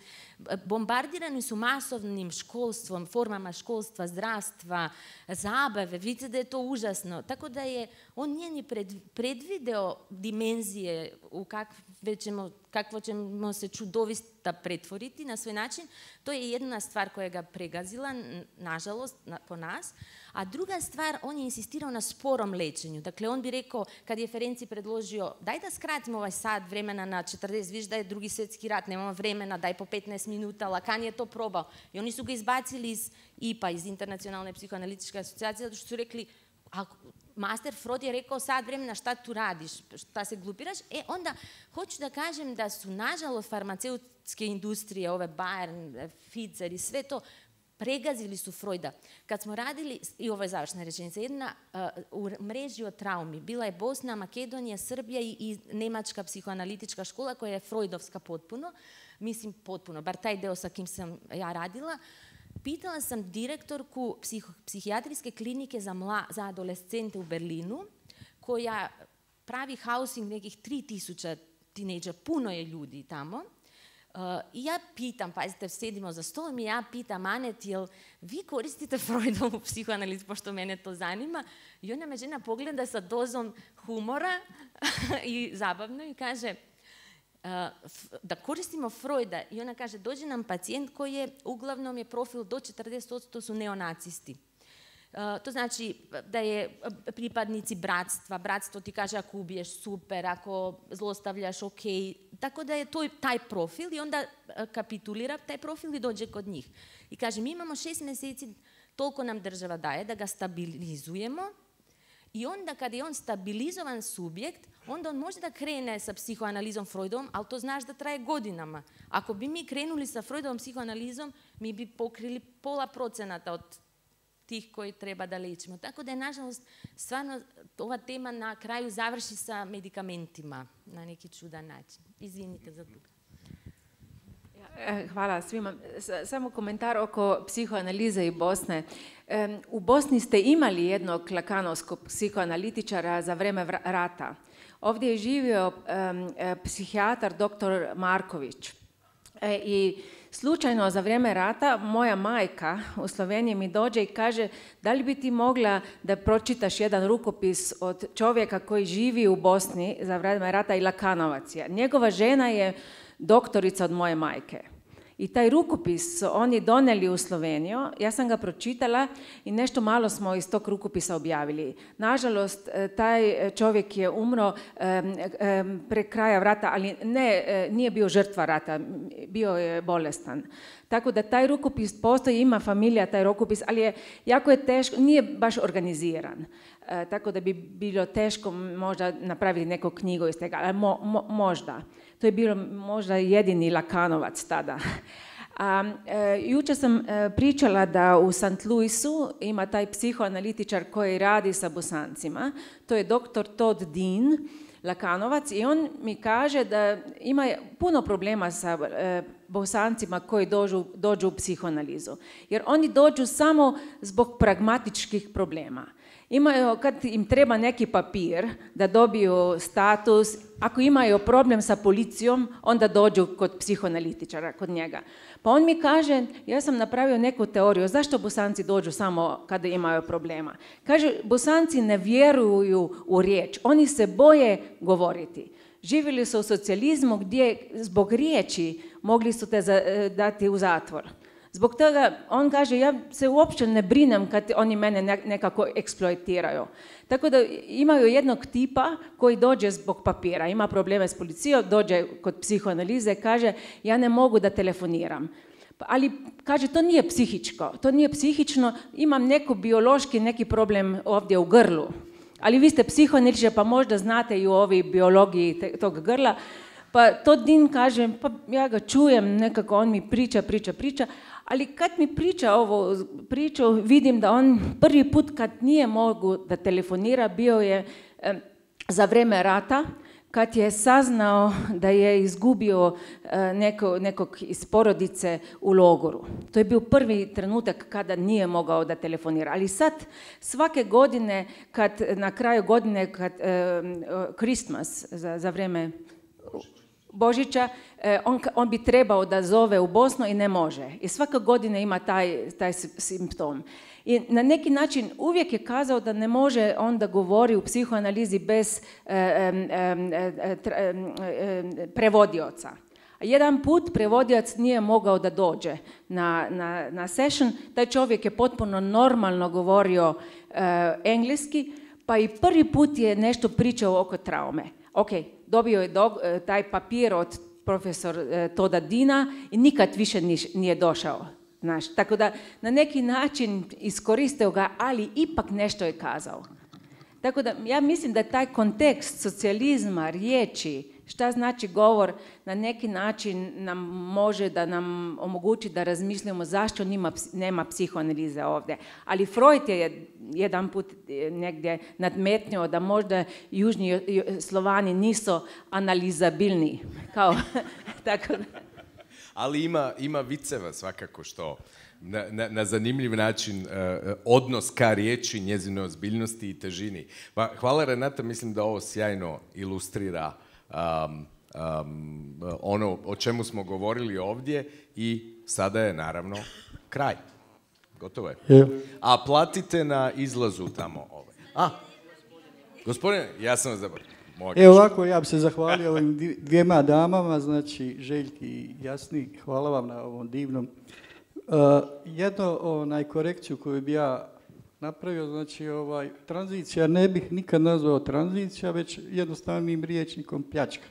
Bombardirani su masovnim školstvom, formama školstva, zdravstva, zabave, vidite da je to užasno. Tako da je, on nije ni pred, predvideo dimenzije u kakve ćemo, kakvo ćemo se čudovista pretvoriti na svoj način. To je jedna stvar koja ga pregazila, nažalost, na, po nas. A druga stvar, on je insistirao na sporom lečenju. Dakle, on bi rekao, kad je Ferenci predložio, daj da skratimo ovaj sat vremena na četrdeset, viš da je drugi svjetski rat, nemamo vremena, daj po petnaest minuta, Lacan je to probao. I oni su ga izbacili iz I P A, iz Internacionalne psihoanalitičke asocijacije, zato što su rekli, ako master Freud je rekao sat vremena šta tu radiš, šta se glupiraš, e onda hoću da kažem da su nažalost farmaceutske industrije, ove Bayern, Pfizer i sve to, pregazili su Freuda. Kad smo radili, i ovo je završna rečenica, jedna uh, u mreži o traumi, bila je Bosna, Makedonija, Srbija i, i Nemačka psihoanalitička škola koja je freudovska potpuno, mislim potpuno, bar taj deo sa kim sam ja radila. Pitala sam direktorku psiho, psihijatrijske klinike za, mla, za adolescente u Berlinu, koja pravi housing nekih tri tisuće tinejdžera, puno je ljudi tamo. Uh, I ja pitam, pazite, sedimo za stolom i ja pitam Anet, jel vi koristite Freudovu psihoanalizu, pošto mene to zanima? I ona me žena pogleda sa dozom humora i zabavno i kaže uh, da koristimo Freuda. I ona kaže, dođe nam pacijent koji je, uglavnom je profil do četrdeset posto su neonacisti. Uh, to znači da je pripadnici bratstva, bratstvo ti kaže ako ubiješ super, ako zlostavljaš ok, tako da je to taj profil i onda kapitulira taj profil i dođe kod njih. I kaže mi imamo šest mjeseci, toliko nam država daje da ga stabilizujemo i onda kad je on stabilizovan subjekt, onda on može da krene sa psihoanalizom Freudovom, ali to znaš da traje godinama. Ako bi mi krenuli sa Freudovom psihoanalizom, mi bi pokrili pola procenata od tih koji treba da lečimo. Tako da je, nažalost, stvarno ova tema na kraju završi sa medikamentima na neki čudan način. Izvinite za to. Hvala svima. Samo komentar oko psihoanalize i Bosne. U Bosni ste imali jednog lakanovskog psihoanalitičara za vreme rata. Ovdje je živio psihijatar doktor Marković. I slučajno za vrijeme rata moja majka u Sloveniji mi dođe i kaže da li bi ti mogla da pročitaš jedan rukopis od čovjeka koji živi u Bosni za vrijeme rata i Lakanovac je. Njegova žena je doktorica od moje majke. I taj rukopis su oni doneli u Sloveniju, ja sam ga pročitala i nešto malo smo iz tog rukopisa objavili. Nažalost, taj čovjek je umro pre kraja rata, ali ne, nije bio žrtva rata, bio je bolestan. Tako da taj rukopis postoji, ima familija taj rukopis, ali je jako je teško, nije baš organiziran. E, tako da bi bilo teško možda napraviti neku knjigu iz tega, ali mo, mo, možda. To je bilo možda jedini Lakanovac tada. A, e, jučer sam e, pričala da u Saint Louisu ima taj psihoanalitičar koji radi sa Bosancima. To je doktor Todd Dean, Lakanovac, i on mi kaže da ima puno problema sa e, Bosancima koji dođu, dođu u psihoanalizu. Jer oni dođu samo zbog pragmatičkih problema. Imaju, kad im treba neki papir da dobiju status, ako imaju problem sa policijom, onda dođu kod psihoanalitičara, kod njega. Pa on mi kaže, ja sam napravio neku teoriju, zašto Bosanci dođu samo kada imaju problema? Kaže, Bosanci ne vjeruju u riječ, oni se boje govoriti. Živjeli su u socijalizmu gdje zbog riječi mogli su te dati u zatvor. Zbog toga, on kaže, ja se uopće ne brinem kad oni mene nekako eksploatiraju. Tako da imaju jednog tipa koji dođe zbog papira, ima probleme s policijom, dođe kod psihoanalize, kaže, ja ne mogu da telefoniram. Ali, kaže, to nije psihičko, to nije psihično, imam neko biološki, neki problem ovdje u grlu. Ali vi ste psihoanalitičar, pa možda znate i u ovoj biologiji tog grla. Pa to Din kaže, pa ja ga čujem, nekako on mi priča, priča, priča, ali kad mi priča ovo priču, vidim da on prvi put kad nije mogu da telefonira, bio je e, za vreme rata, kad je saznao da je izgubio e, neko, nekog iz porodice u logoru. To je bio prvi trenutak kada nije mogao da telefonira. Ali sad, svake godine, kad na kraju godine, kad e, Christmas, za, za vreme Božića, on, on bi trebao da zove u Bosnu i ne može. I svake godine ima taj, taj simptom. I na neki način uvijek je kazao da ne može on da govori u psihoanalizi bez e, e, e, e, prevodioca. Jedan put prevodioc nije mogao da dođe na, na, na session, taj čovjek je potpuno normalno govorio e, engleski, pa i prvi put je nešto pričao oko traume. Ok, dobio je do, taj papir od profesor e, Toda Dina i nikad više niš, nije došao. Znaš. Tako da na neki način iskoristio ga, ali ipak nešto je kazao. Tako da ja mislim da taj kontekst socijalizma, riječi, šta znači govor, na neki način nam može da nam omogući da razmislimo zašto nima, nema psihoanalize ovdje. Ali Freud je jedan put negdje nadmetnio da možda južni Slovani nisu analizabilni. Kao, tako da. Ali ima, ima viceva svakako što na, na, na zanimljiv način uh, odnos ka riječi, njezinoj ozbiljnosti i težini. Pa, hvala Renata, mislim da ovo sjajno ilustrira um, um, ono o čemu smo govorili ovdje i sada je naravno kraj. Gotovo je. Yeah. A platite na izlazu tamo. Ovaj. A, gospodine, ja sam vas zaboravio. Evo ovako, ja bih se zahvalio ovim dvijema damama, znači Željki i Jasni, hvala vam na ovom divnom. Uh, jedno onaj korekciju koju bi ja napravio, znači ovaj, tranzicija ne bih nikad nazvao tranzicija, već jednostavnim riječnikom pljačka.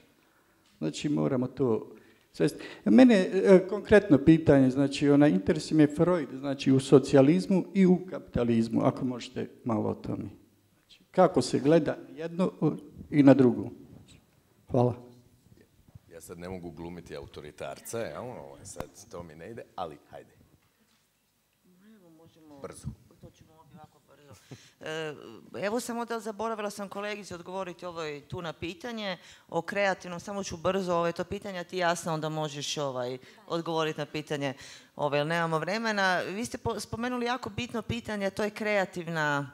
Znači moramo to svesti. Mene e, konkretno pitanje, znači ona interesuje me Freud, znači u socijalizmu i u kapitalizmu, ako možete malo o tome. Znači, kako se gleda jedno i na drugu. Hvala. Ja sad ne mogu glumiti autoritarca, ja, ovo sad to mi ne ide, ali hajde. Brzo. Evo samo da zaboravila sam kolegici odgovoriti ovo tu na pitanje o kreativnom, samo ću brzo ovaj, to pitanje, a ti jasno onda možeš ovaj, odgovoriti na pitanje, ovaj, jer nemamo vremena. Vi ste spomenuli jako bitno pitanje, to je kreativna,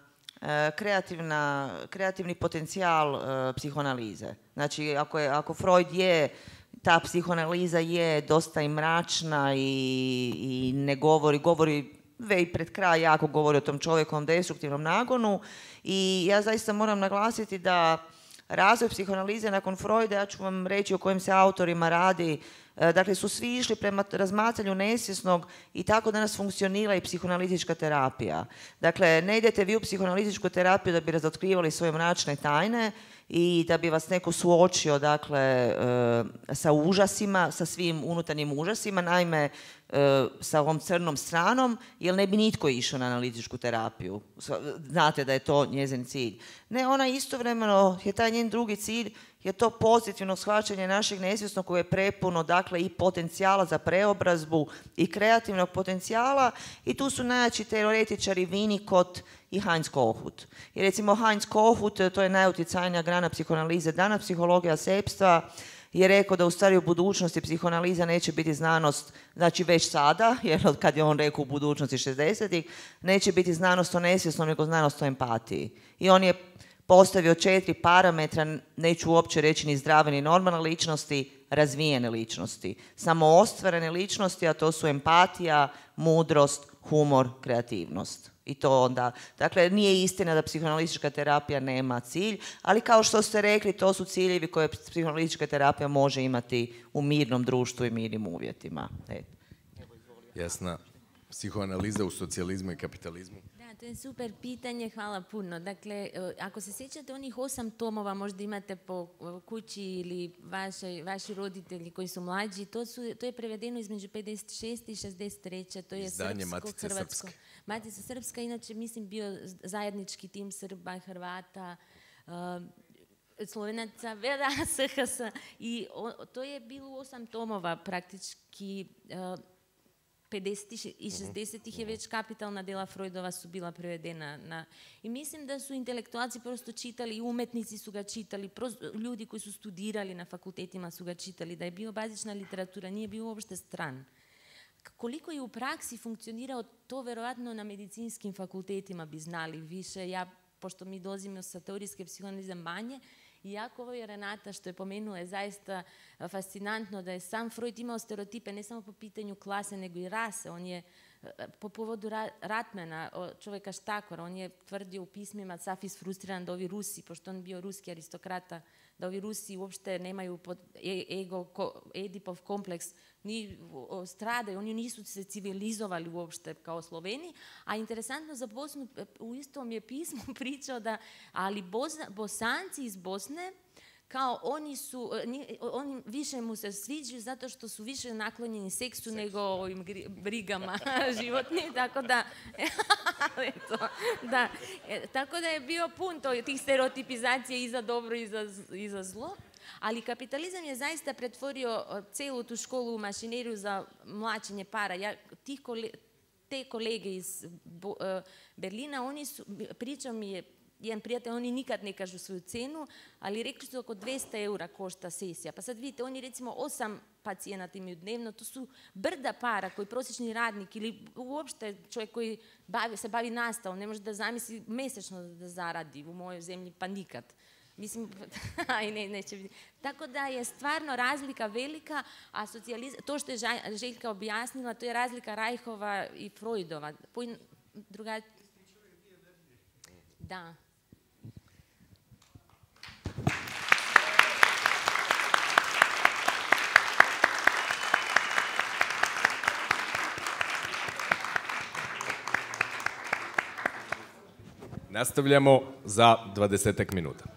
kreativna, kreativni potencijal psihoanalize. Znači, ako, je, ako Freud je, ta psihoanaliza je dosta i mračna i, i ne govori, govori već pred kraj jako govori o tom čovjekovom destruktivnom nagonu i ja zaista moram naglasiti da razvoj psihoanalize nakon Freuda, ja ću vam reći o kojim se autorima radi, dakle su svi išli prema razmatranju nesvjesnog i tako danas funkcionira i psihoanalitička terapija. Dakle, ne idete vi u psihoanalitičku terapiju da bi razotkrivali svoje mračne tajne i da bi vas neko suočio, dakle, sa užasima, sa svim unutarnjim užasima, naime, sa ovom crnom stranom, jer ne bi nitko išao na analitičku terapiju. Znate da je to njezin cilj. Ne, ona istovremeno je taj njen drugi cilj, je to pozitivno shvaćanje našeg nesvjesnog koje je prepuno, dakle, i potencijala za preobrazbu i kreativnog potencijala i tu su najjači teoretičari Winnicott i Heinz Kohut. I recimo Heinz Kohut, to je najutjecajnija grana psihoanalize danas, psihologija sepstva, je rekao da u stvari u budućnosti psihoanaliza neće biti znanost, znači već sada, jer od kad je on rekao u budućnosti šezdesetih, neće biti znanost o nesvjesnom, nego znanost o empatiji. I on je postavio četiri parametra, neću uopće reći ni zdrave ni normalne ličnosti, razvijene ličnosti. Samo ostvarene ličnosti, a to su empatija, mudrost, humor, kreativnost. I to onda, dakle, nije istina da psihoanalitička terapija nema cilj, ali kao što ste rekli, to su ciljevi koje psihoanalitička terapija može imati u mirnom društvu i mirnim uvjetima. Eto. Jasna. Psihoanaliza u socijalizmu i kapitalizmu? Da, to je super pitanje, hvala puno. Dakle, ako se sjećate onih osam tomova, možda imate po kući ili vaši, vaši roditelji koji su mlađi, to, su, to je prevedeno između pedeset šeste i šezdeset treće. To je izdanje srpsko, Matice hrvatsko. Srpske. Matica Srpska, inače mislim bio zajednički tim Srba, Hrvata, uh, Slovenaca, Vera, S H S. I o, to je bilo osam tomova praktički. Uh, pedesetih i šezdesetih je već kapitalna dela Freudova su bila prevedena na... I mislim da su intelektualci prosto čitali, i umetnici su ga čitali, prosto, ljudi koji su studirali na fakultetima su ga čitali, da je bio bazična literatura, nije bio uopšte stran. Koliko je u praksi funkcionirao, to verovatno na medicinskim fakultetima bi znali više. Ja, pošto mi dolazimo sa teorijske psihoanalize manje, iako ovo je Renata što je pomenula, je zaista fascinantno da je sam Freud imao stereotipe ne samo po pitanju klase, nego i rase. On je po povodu Ratmana, čovjeka štakora, on je tvrdio u pismima Safis frustriran da ovi Rusi, pošto on bio ruski aristokrata, da ovi Rusi uopšte nemaju ego, Edipov kompleks, ni stradaju, oni nisu se civilizovali uopšte kao Sloveni, a interesantno za Bosnu, u istom je pismu pričao da, ali Bosanci iz Bosne, kao oni su, oni više mu se sviđaju zato što su više naklonjeni seksu nego ovim brigama životnim, tako da, eto, da, tako da je bio pun to, tih stereotipizacija i za dobro i za, i za zlo. Ali kapitalizam je zaista pretvorio celu tu školu u mašineriju za mlačenje para. Ja, tih kole, te kolege iz Bo, uh, Berlina, oni su, pričao mi je jedan prijatelj, oni nikad ne kažu svoju cenu, ali rekli su oko dvesta eura košta sesija. Pa sad vidite, oni recimo osam pacijenata imaju dnevno, to su brda para koji prosječni radnik ili uopšte čovjek koji bavi, se bavi nastavom, ne može da zamisli mesečno da zaradi u mojoj zemlji, pa nikad. Mislim, aj ne, neće biti. Tako da je stvarno razlika velika, a socijalizam, to što je Željka objasnila, to je razlika Reichova i Freudova. Druga... Da. Nastavljamo za dvadesetak minuta.